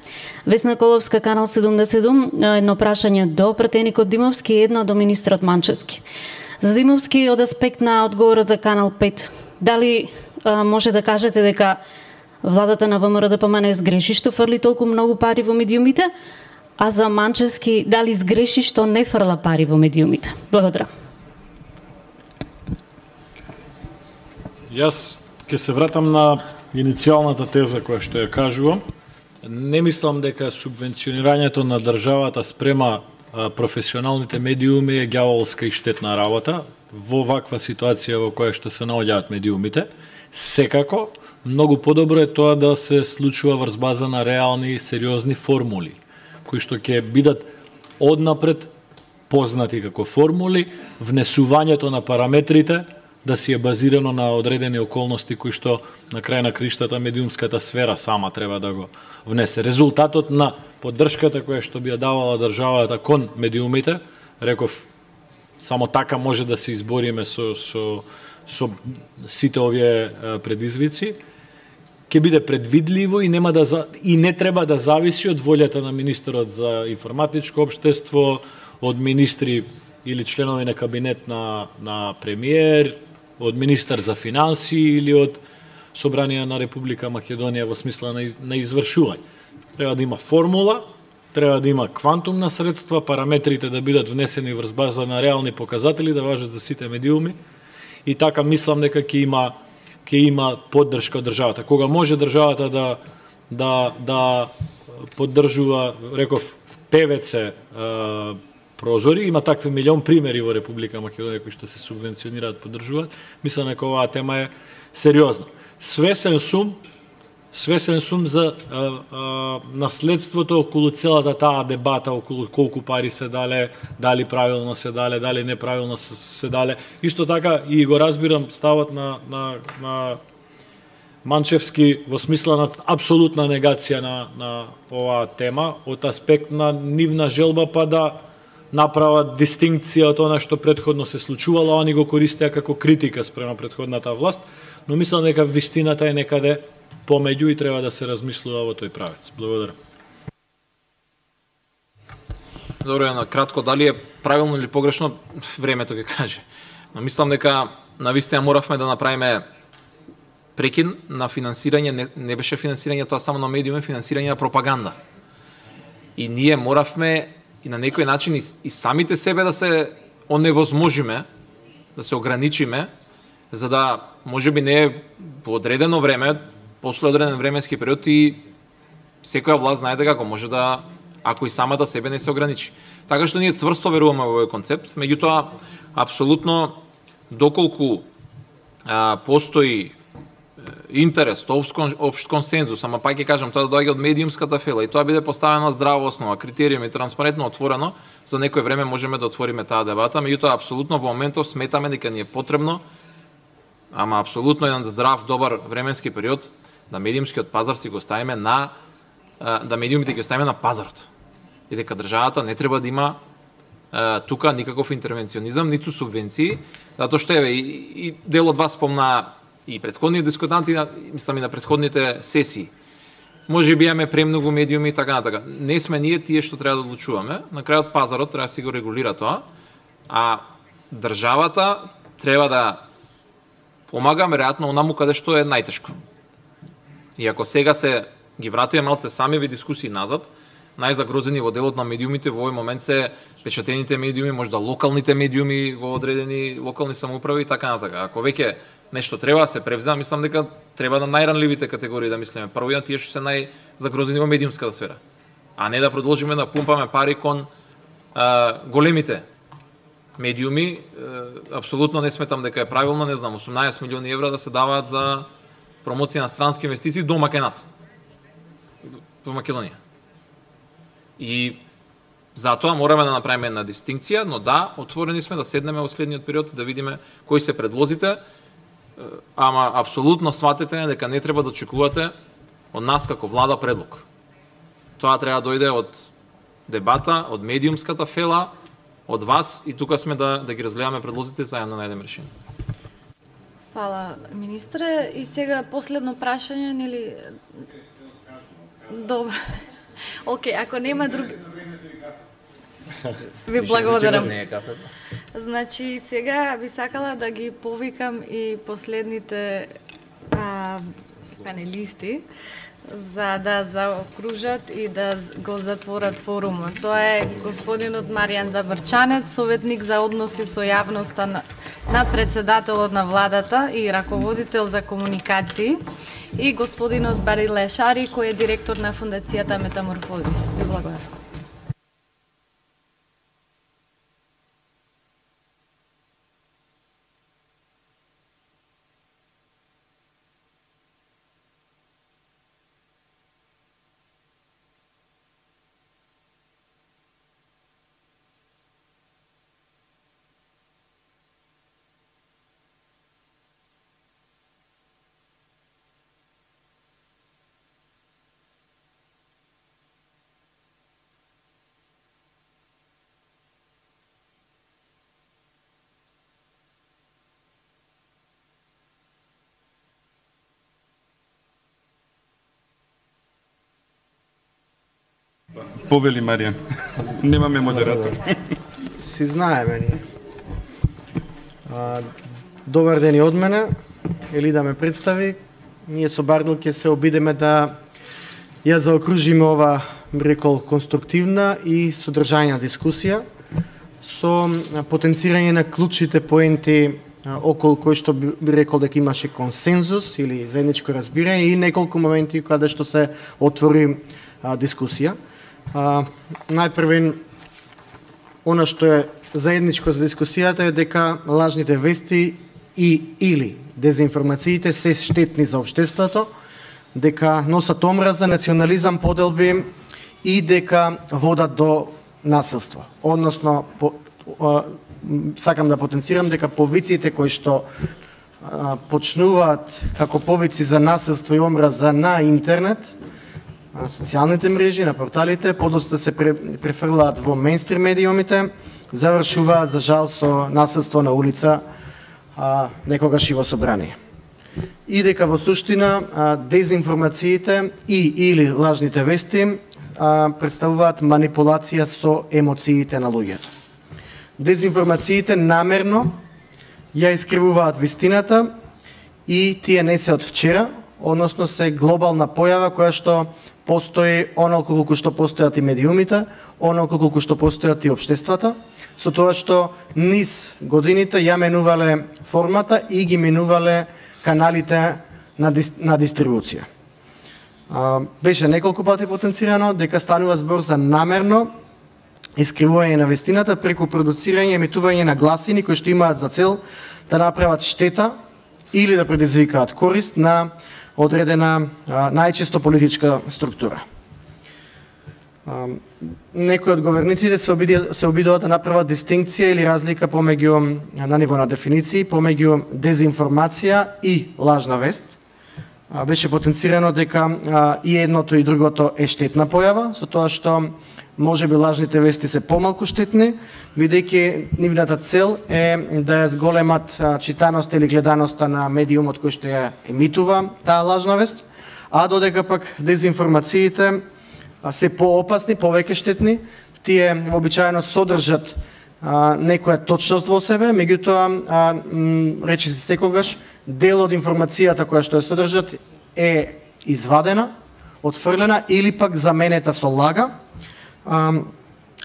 Весна Коловска, канал седумдесет и седум, едно прашање до пратеникот Димовски и едно до министрот Манчевски. За Димовски, од аспект на одговорот за канал пет, дали а, може да кажете дека владата на ВМРО Д П М Н сгреши што фрли толку многу пари во медиумите, а за Манчевски дали сгреши што не фрла пари во медиумите? Благодарам. Јас ќе се вратам на иницијалната теза која што ја кажувам. Не мислам дека субвенционирањето на државата спрема а, професионалните медиуми е ѓаволска и штетна работа во ваква ситуација во која што се наоѓаат медиумите. Секако, многу подобро е тоа да се случува врз база на реални и сериозни формули, кои што ќе бидат однапред познати како формули, внесувањето на параметрите да си е базирано на одредени околности кои што на крај на криштата медиумската сфера сама треба да го внесе. Резултатот на поддршката која што би ја давала државата кон медиумите, реков, само така може да се избориме со, со, со сите овие предизвици, ќе биде предвидливо и нема да и не треба да зависи од волјата на министерот за информатичко општество, од министри или членови на кабинет на, на премиер, од министар за финансии или од Собранија на Република Македонија во смисла на, на извршување. Треба да има формула, треба да има квантум на средства, параметрите да бидат внесени врз база на реални показатели, да важат за сите медиуми и така мислам дека ќе има ќе има поддршка од државата. Кога може државата да да да поддржува, реков, ПВЦ прозори, има такви милион примери во Република Македонија кои што се субвенционираат, поддржуваат. Мислам дека оваа тема е сериозна. Свесен сум, свесен сум за а, а, наследството околу целата таа дебата, околу колку пари се дале, дали правилно се дале, дали неправилно се, се дале. Исто така и го разбирам ставот на, на, на Манчевски во смисла на апсолутна негација на, на оваа тема, од аспект на нивна желба па да направат дистинкција од она што претходно се случувало, а они го користеа како критика спрема претходната власт, но мислам дека вистината е некаде помеѓу и треба да се размислува во тој правец. Благодарам. Добро, на кратко, дали е правилно или погрешно, времето ќе каже. Но мислам дека навистина моравме да направиме прекин на финансирање, не, не беше финансирање тоа само на медиуми, финансирање на пропаганда. И ние моравме и на некој начин и, и самите себе да се оневозможиме, да се ограничиме, за да можеби не е по одредено време, после одреден временски период и секоја власт знае дека може да, ако и самата себе не се ограничи. Така што ние цврсто веруваме во овој концепт, меѓутоа апсолутно доколку а, постои интерес, општ консензус, ама пак ќе кажам, тоа да доаѓа од медиумската фела и тоа биде поставено на здрава основа, критериуми, транспарентно, отворено, за некој време можеме да отвориме таа дебата, меѓутоа апсолутно во моментов сметаме дека ни е потребно, ама апсолутно еден здрав, добар временски период да медиумскиот пазар си го ставиме на да медиумите ги оставиме на пазарот. И дека државата не треба да има а, тука никаков интервенционизам, ниту субвенции, затоа што еве и, и дел од вас спомна и претходни дискутанти, мислам и на претходните сесии. Може би имаме премногу медиуми и така натака. Не сме ние тие што треба да одлучуваме. На крајот пазарот треба да си го регулира тоа, а државата треба да помага веројатно онаму каде што е најтешко. И ако сега се ги вратиме малце сами во дискусии назад, најзагрозени во делот на медиумите во овој момент се печатените медиуми, можда локалните медиуми во одредени локални самоуправи и така натака. Ако веќе нешто треба да се превзема, мислам дека треба на најранливите категории да мислиме. Прво и на тие што се најзагрозени во медиумската сфера, а не да продолжиме да пумпаме пари кон а, големите медиуми. А, апсолутно не сметам дека е правилно, не знам, осумнаесет милиони евра да се даваат за промоција на странски инвестиции дома кај нас, во Македонија. И затоа мораме да направиме една дистинкција, но да, отворени сме да седнеме во следниот период и да видиме кои се предлозите, ама апсолутно сватете дека не треба да очекувате од нас како влада предлог. Тоа треба да дојде од дебата, од медиумската фела, од вас и тука сме да, да ги разгледаме предлозите заедно да најдеме решение. Фала, министре. И сега последно прашање, нели? Добро. Океј, ако нема други... Ви благодарам. Значи, сега би сакала да ги повикам и последните а, панелисти за да заокружат и да го затворат форумот. Тоа е господинот Маријан Забрчанец, советник за односи со јавноста на, на председателот на владата и раководител за комуникации, и господинот Бари Лешари, кој е директор на фундацијата Метаморфозис. Ви благодарам. Повели Маријан. Немаме модератор. Си знаеме ние. А, добар ден и од мене. Ели да ме представи. Ние со Бардил ќе се обидеме да ја заокружиме ова, би рекол, конструктивна и содржајна дискусија со потенцирање на клучните поенти околу кои што би рекол дека имаше консензус или заедничко разбирање и неколку моменти каде што се отвори а, дискусија. А, најпрвен, она што е заедничко за дискусијата е дека лажните вести и или дезинформациите се штетни за општеството, дека носат омраза, национализам, поделби и дека водат до насилство. Односно, по, а, сакам да потенцирам дека повиците кои што а, почнуваат како повици за насилство и омраза на интернет, на социјалните мрежи, на порталите, подоста се префрлаат во мејнстрим медиумите, завршуваат за жал со насилство на улица, а, некогаш и во собрание. И дека во суштина а, дезинформациите и или лажните вести а, представуваат манипулација со емоциите на луѓето. Дезинформациите намерно ја искривуваат вистината и тие не се од вчера, односно се глобална појава која што постои онолку колку што постојат и медиумите, онолку колку што постојат и општествата, со тоа што низ годините ја менувале формата и ги менувале каналите на, дис, на дистрибуција. А, беше неколку пати потенцирано дека станува збор за намерно искривување на вистината преку продуцирање и емитување на гласини кои што имаат за цел да направат штета или да предизвикаат корист на одредена а, најчесто политичка структура. А, некои од говорниците се, обиди, се обидуваат да направат дистинкција или разлика помеѓу на ниво на дефиниции помеѓу дезинформација и лажна вест. А, беше потенцирано дека а, и едното и другото е штетна појава, со тоа што може би лажните вести се помалку штетни, бидејќи нивната цел е да ја зголемат а, читаноста или гледаноста на медиумот кој што ја емитува таа лажна вест, а додека пак дезинформациите а, се поопасни, повеќе штетни, тие вообичаено содржат а, некоја точност во себе, меѓутоа а, речи се секогаш дел од информацијата која што ја содржат е извадена, отфрлена или пак заменета со лага,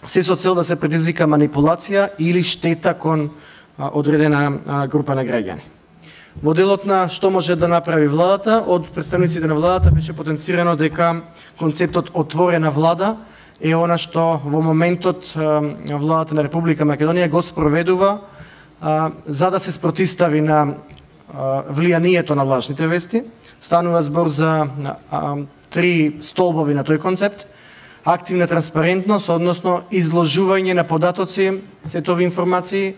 се со цел да се предизвика манипулација или штета кон одредена група на граѓани. Во делот на што може да направи владата, од представниците на владата беше потенцирано дека концептот отворена влада е она што во моментот владата на Република Македонија го спроведува за да се спротистави на влијанието на лажните вести. Станува збор за три столбови на тој концепт: активна транспарентност, односно изложување на податоци, сетови информации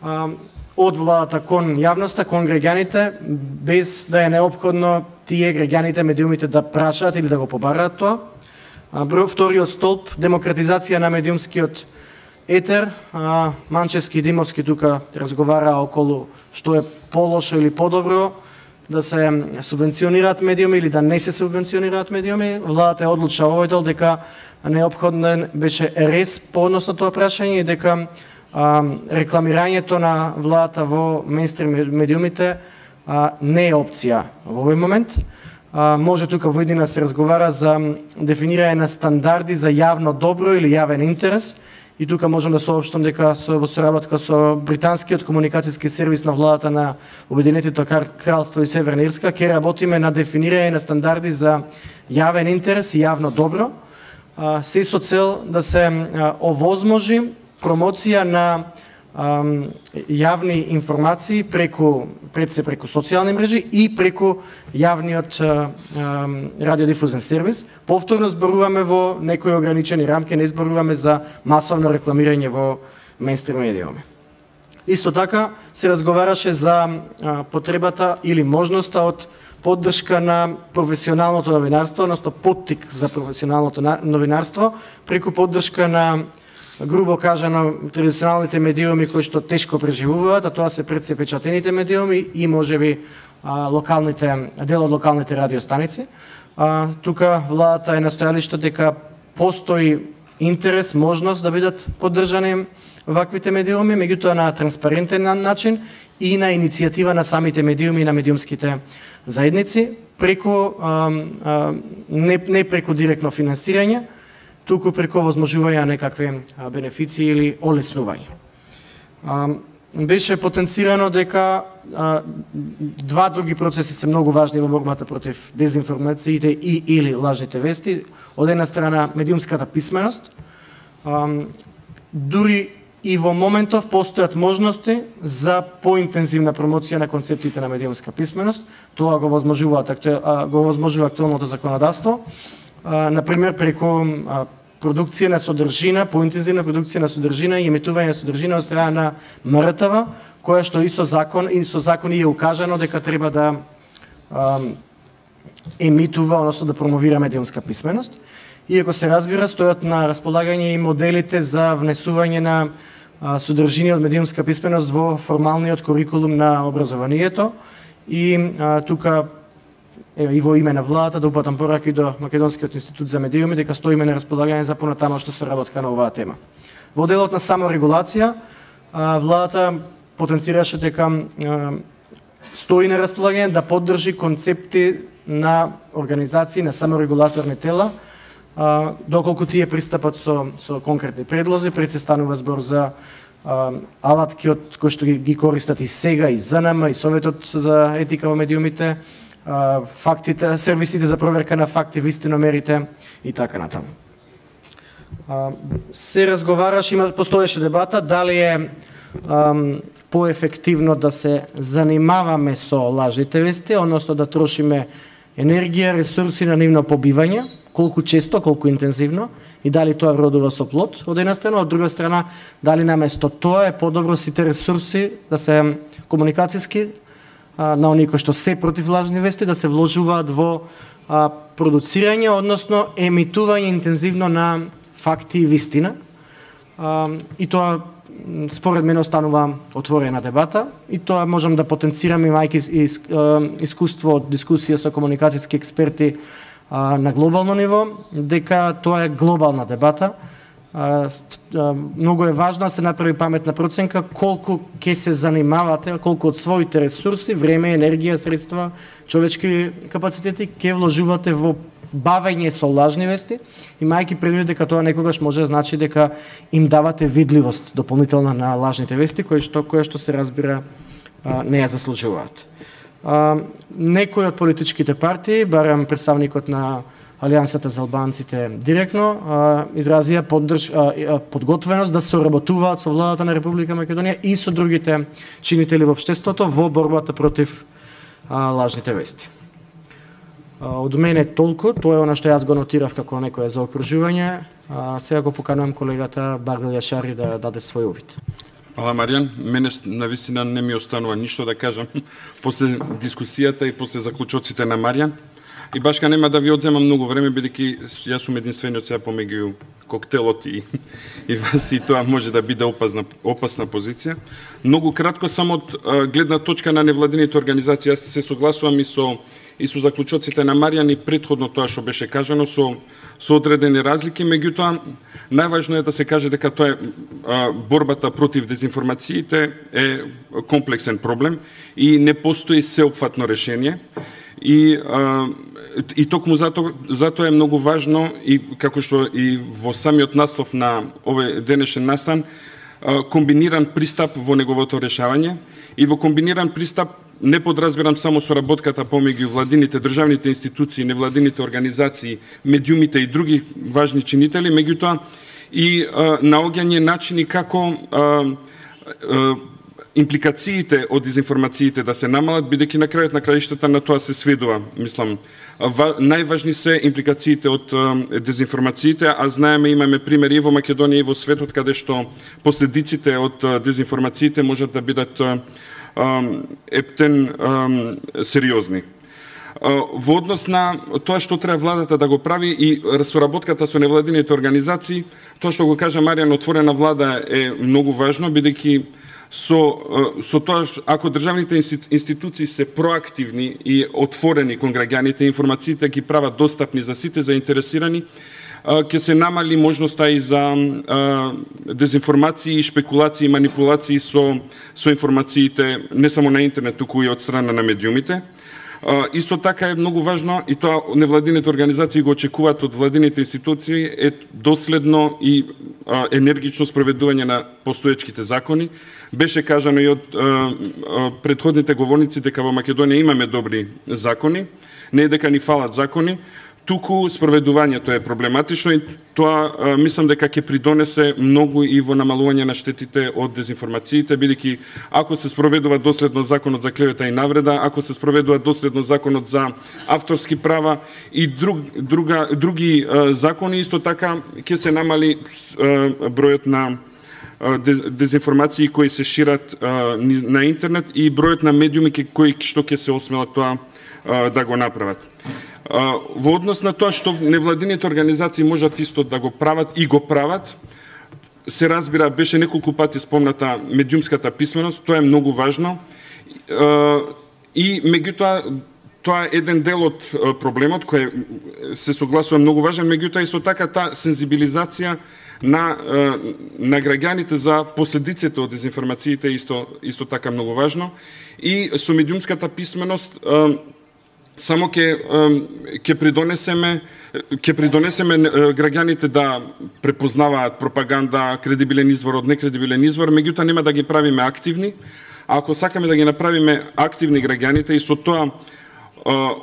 а, од владата кон јавноста, кон граѓаните, без да е неопходно тие граѓаните, медиумите да прашаат или да го побараат тоа. А, вториот столб, демократизација на медиумскиот етер. А, Манчевски и Димовски тука разговараа околу што е полошо или подобро, да се субвенционираат медиуми или да не се субвенционираат медиуми. Владата е одлучила овој дел дека неопходен беше рез по однос на тоа прашање и дека а, рекламирањето на владата во мејнстрим медиумите а, не е опција во овој момент. А, може тука во иднина се разговара за дефинирање на стандарди за јавно добро или јавен интерес. И тука можам да соопштам дека со, во соработка со британскиот комуникацијски сервис на владата на Обединетото кралство и Северна Ирска ќе работиме на дефинирање на стандарди за јавен интерес и јавно добро, а, се со цел да се а, овозможи промоција на а, јавни информации преку пред се преку социјални мрежи и преку јавниот а, а, радиодифузен сервис. Повторно зборуваме во некои ограничени рамки, не зборуваме за масовно рекламирање во мејнстрим медиуми. Исто така се разговараше за а, потребата или можноста од поддршка на професионалното новинарство, односно поттик за професионалното новинарство преку поддршка на, грубо кажано, традиционалните медиуми кои што тешко преживуваат, а тоа се пред се печатените медиуми и можеби а, локалните, дел од локалните радиостаници. А, тука владата е настојалиште дека постои интерес, можност да бидат поддржани ваквите медиуми, меѓутоа на транспарентен начин и на иницијатива на самите медиуми и на медиумските заедници, преку а, а, не, не преку директно финансирање, туку преку возможување на некакви бенефиции или олеснување. А, беше потенцирано дека а, два други процеси се многу важни во борбата против дезинформациите и или лажните вести. Од една страна медиумската писменост. А, дури и во моментов постојат можности за поинтензивна промоција на концептите на медиумска писменост. Тоа го возможува, го возможува актуелното законодавство. А, например, преку а, продукција на содржина, поинтензивна продукција на содржина и емитување на содржина од страна на М Р Т В, која што и со закон и со закони е укажано дека треба да а, емитува, односно да промовира медиумска писменост. Иако се разбира, стојат на располагање и моделите за внесување на а, содржини од медиумска писменост во формалниот курикулум на образованието и а, тука еве и во име на владата да упатам порака и до Македонскиот институт за медиуми дека стоиме на располагање за понатамошна соработка на оваа тема. Во делот на саморегулација, владата потенцираше дека стои на располагање да поддржи концепти на организации на саморегулаторни тела, доколку тие пристапат со, со конкретни предлози, пред се станува збор за а, алатки од кои што ги, ги користат и сега, и ЗНМ, и Советот за етика во медиумите, а, фактите, сервисите за проверка на факти, вистиномерите и така натаму. А, се разговараше, има постоеше дебата дали е ам, поефективно да се занимаваме со лажните вести, односно да трошиме енергија, ресурси на нивно побивање, колку често, колку интензивно, и дали тоа вродува со плод, од една страна, од друга страна, дали наместо тоа е подобро сите ресурси да се комуникацијски а, на оние кои што се против лажни вести, да се вложуваат во а, продуцирање, односно емитување интензивно на факти и вистина. А, и тоа според мене останува отворена дебата и тоа можам да потенцирам имајќи искуство од дискусија со комуникацијски експерти а, на глобално ниво, дека тоа е глобална дебата. А, а, многу е важно да се направи паметна проценка колку ќе се занимавате, колку од своите ресурси, време, енергија, средства, човечки капацитети ќе вложувате во бавење со лажни вести, имајќи предвид дека тоа некогаш може да значи дека им давате видливост дополнителна на лажните вести, кои што која што се разбира а, не ја заслужуваат. А, некои од политичките партии, барем представникот на Алијансата за албанците директно, а, изразија поддрж, а, подготвеност да соработуваат со владата на Република Македонија и со другите чинители во општеството во борбата против а, лажните вести. Од мене толку, тоа е она што јас го нотирав како некое заокружување. Сега го поканувам колегата Бардел Јашари да даде свој увид. Фала, Маријан. Мене навистина не ми останува ништо да кажам после дискусијата и после заклучоците на Маријан. И башка нема да ви одземам многу време, бидејќи јас сум единствениот сега помеѓу коктелот и, и вас, и тоа може да биде опасна, опасна позиција. Многу кратко, само од гледна точка на невладините организации, јас се согласувам и со и со заклучоците на Маријан и претходно тоа што беше кажано со со одредени разлики, меѓутоа најважно е да се каже дека тоа е а, борбата против дезинформациите е комплексен проблем и не постои сеопфатно решение. И а, и токму затоа затоа е многу важно и како што и во самиот наслов на овој денешен настан, а, комбиниран пристап во неговото решавање и во комбиниран пристап не подразбирам само соработката помеѓу владините, државните институции, невладините организации, медиумите и други важни чинители, меѓутоа и а, наоѓање начини како а, а, импликациите од дезинформациите да се намалат, бидејќи на крајот на краиштата на тоа се сведува, мислам. Најважни се импликациите од а, дезинформациите, а знаеме, имаме примери и во Македонија и во светот каде што последиците од а, дезинформациите можат да бидат а, ептен сериозни. Во однос на тоа што треба владата да го прави и соработката со невладините организации, тоа што го кажа Маријан, отворена влада е многу важно, бидејќи со, со тоа, ако државните институции се проактивни и отворени кон граѓаните, информациите ги прават достапни за сите заинтересирани, ќе се намали можноста и за а, дезинформации, шпекулации и манипулации со, со информациите не само на интернет, туку и од страна на медиумите. А, исто така е многу важно, и тоа невладините организации го очекуваат од владините институции, е доследно и а, енергично спроведување на постоечките закони. Беше кажано и од а, а, предходните говорници дека во Македонија имаме добри закони, не е дека ни фалат закони, туку спроведувањето е проблематично и тоа а, мислам дека ќе придонесе многу и во намалување на штетите од дезинформациите, бидејќи ако се спроведува доследно законот за клевета и навреда, ако се спроведува доследно законот за авторски права и друг, друга, други а, закони, исто така ќе се намали а, бројот на дезинформации кои се шират а, на интернет и бројот на медиуми кои што ќе се осмелат тоа а, да го направат. Во однос на тоа што невладините организации можат исто да го прават и го прават, се разбира, беше неколку пати спомната медиумската писменост, тоа е многу важно. И меѓутоа тоа е еден дел од проблемот кој се согласува многу важен, меѓутоа исто така таа сензибилизација на на граѓаните за последиците од дезинформациите исто исто така многу важно, и со медиумската писменост само ќе ќе придонесеме ќе придонесеме граѓаните да препознаваат пропаганда, кредибилен извор од некредибилен извор, меѓутоа нема да ги правиме активни. А ако сакаме да ги направиме активни граѓаните и со тоа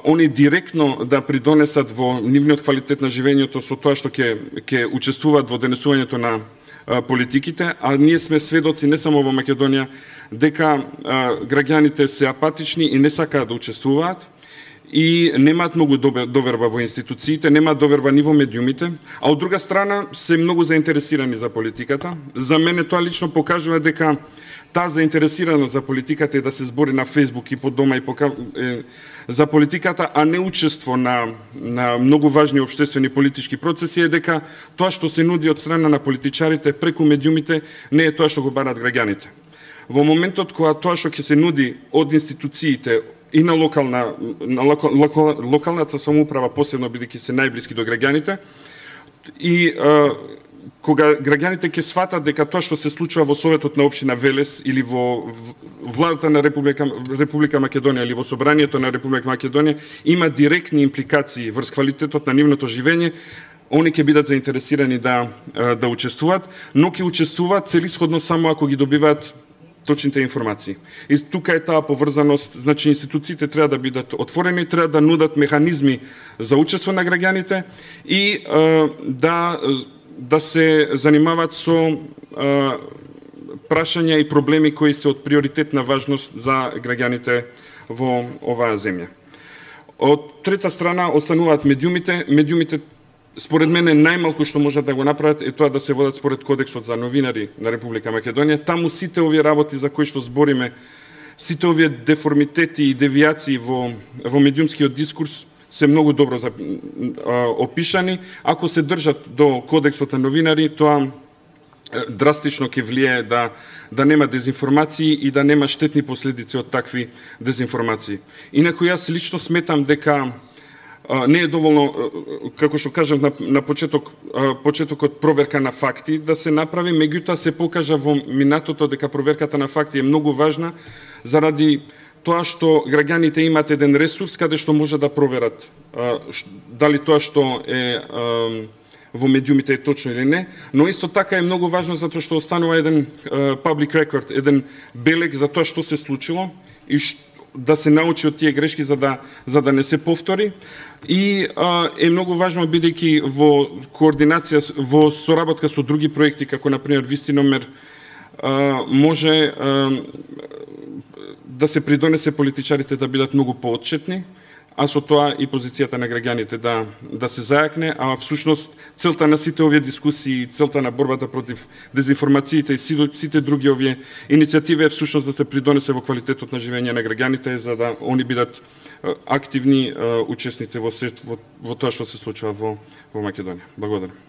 они директно да придонесат во нивниот квалитет на живењето со тоа што ќе ќе учествуваат во денесувањето на политиките, а ние сме сведоци не само во Македонија дека граѓаните се апатични и не сакаат да учествуваат и немаат многу доверба во институциите, немаат доверба ни во медиумите, а од друга страна се многу заинтересирани за политиката. За мене тоа лично покажува дека таа заинтересираност за политиката е да се збори на Фейсбук и по дома и пока, е, за политиката, а не учество на, на многу важни општествени политички процеси, е дека тоа што се нуди од страна на политичарите преку медиумите не е тоа што го бараат граѓаните. Во моментот кога тоа што ќе се нуди од институциите и на локална на локал, локал, локалната самоуправа, посебно бидејќи се најблиски до граѓаните, и а, кога граѓаните ќе сватат дека тоа што се случува во Советот на општина Велес или во владата на Република, Република Македонија или во собранието на Република Македонија има директни импликации врз квалитетот на нивното живење, они ќе бидат заинтересирани да да учествуваат, но ќе учествуваат целисходно само ако ги добиваат точните информации. И тука е таа поврзаност, значи институциите треба да бидат отворени, треба да нудат механизми за учество на граѓаните и е, да да се занимаваат со а, прашања и проблеми кои се од приоритетна важност за граѓаните во оваа земја. Од трета страна остануваат медиумите. Медиумите, според мене, најмалку што можат да го направат е тоа да се водат според Кодексот за новинари на Република Македонија. Таму сите овие работи за кои што збориме, сите овие деформитети и девијации во, во медиумскиот дискурс се многу добро за, а, опишани. Ако се држат до Кодексот на новинари, тоа драстично ќе влие да да нема дезинформации и да нема штетни последици од такви дезинформации. Инаку јас лично сметам дека а, не е доволно, како што кажам на, на почеток, а, почетокот проверка на факти да се направи, меѓутоа се покажа во минатото дека проверката на факти е многу важна заради тоа што граѓаните имаат еден ресурс каде што може да проверат а, ш, дали тоа што е а, во медиумите е точно или не, но исто така е многу важно затоа што останува еден а, public record, еден белег за тоа што се случило и ш, да се научи од тие грешки за да за да не се повтори. И а, е многу важно бидејќи во координација, во соработка со други проекти како на пример Вистиномер а, може а, да се придонесе политичарите да бидат многу поотчетни, а со тоа и позицијата на граѓаните да да се зајакне, а всушност целта на сите овие дискусии, целта на борбата против дезинформациите и сите други овие иницијативи е всушност да се придонесе во квалитетот на живење на граѓаните за да они бидат активни учесници во, во, во тоа што се случува во во Македонија. Благодарам.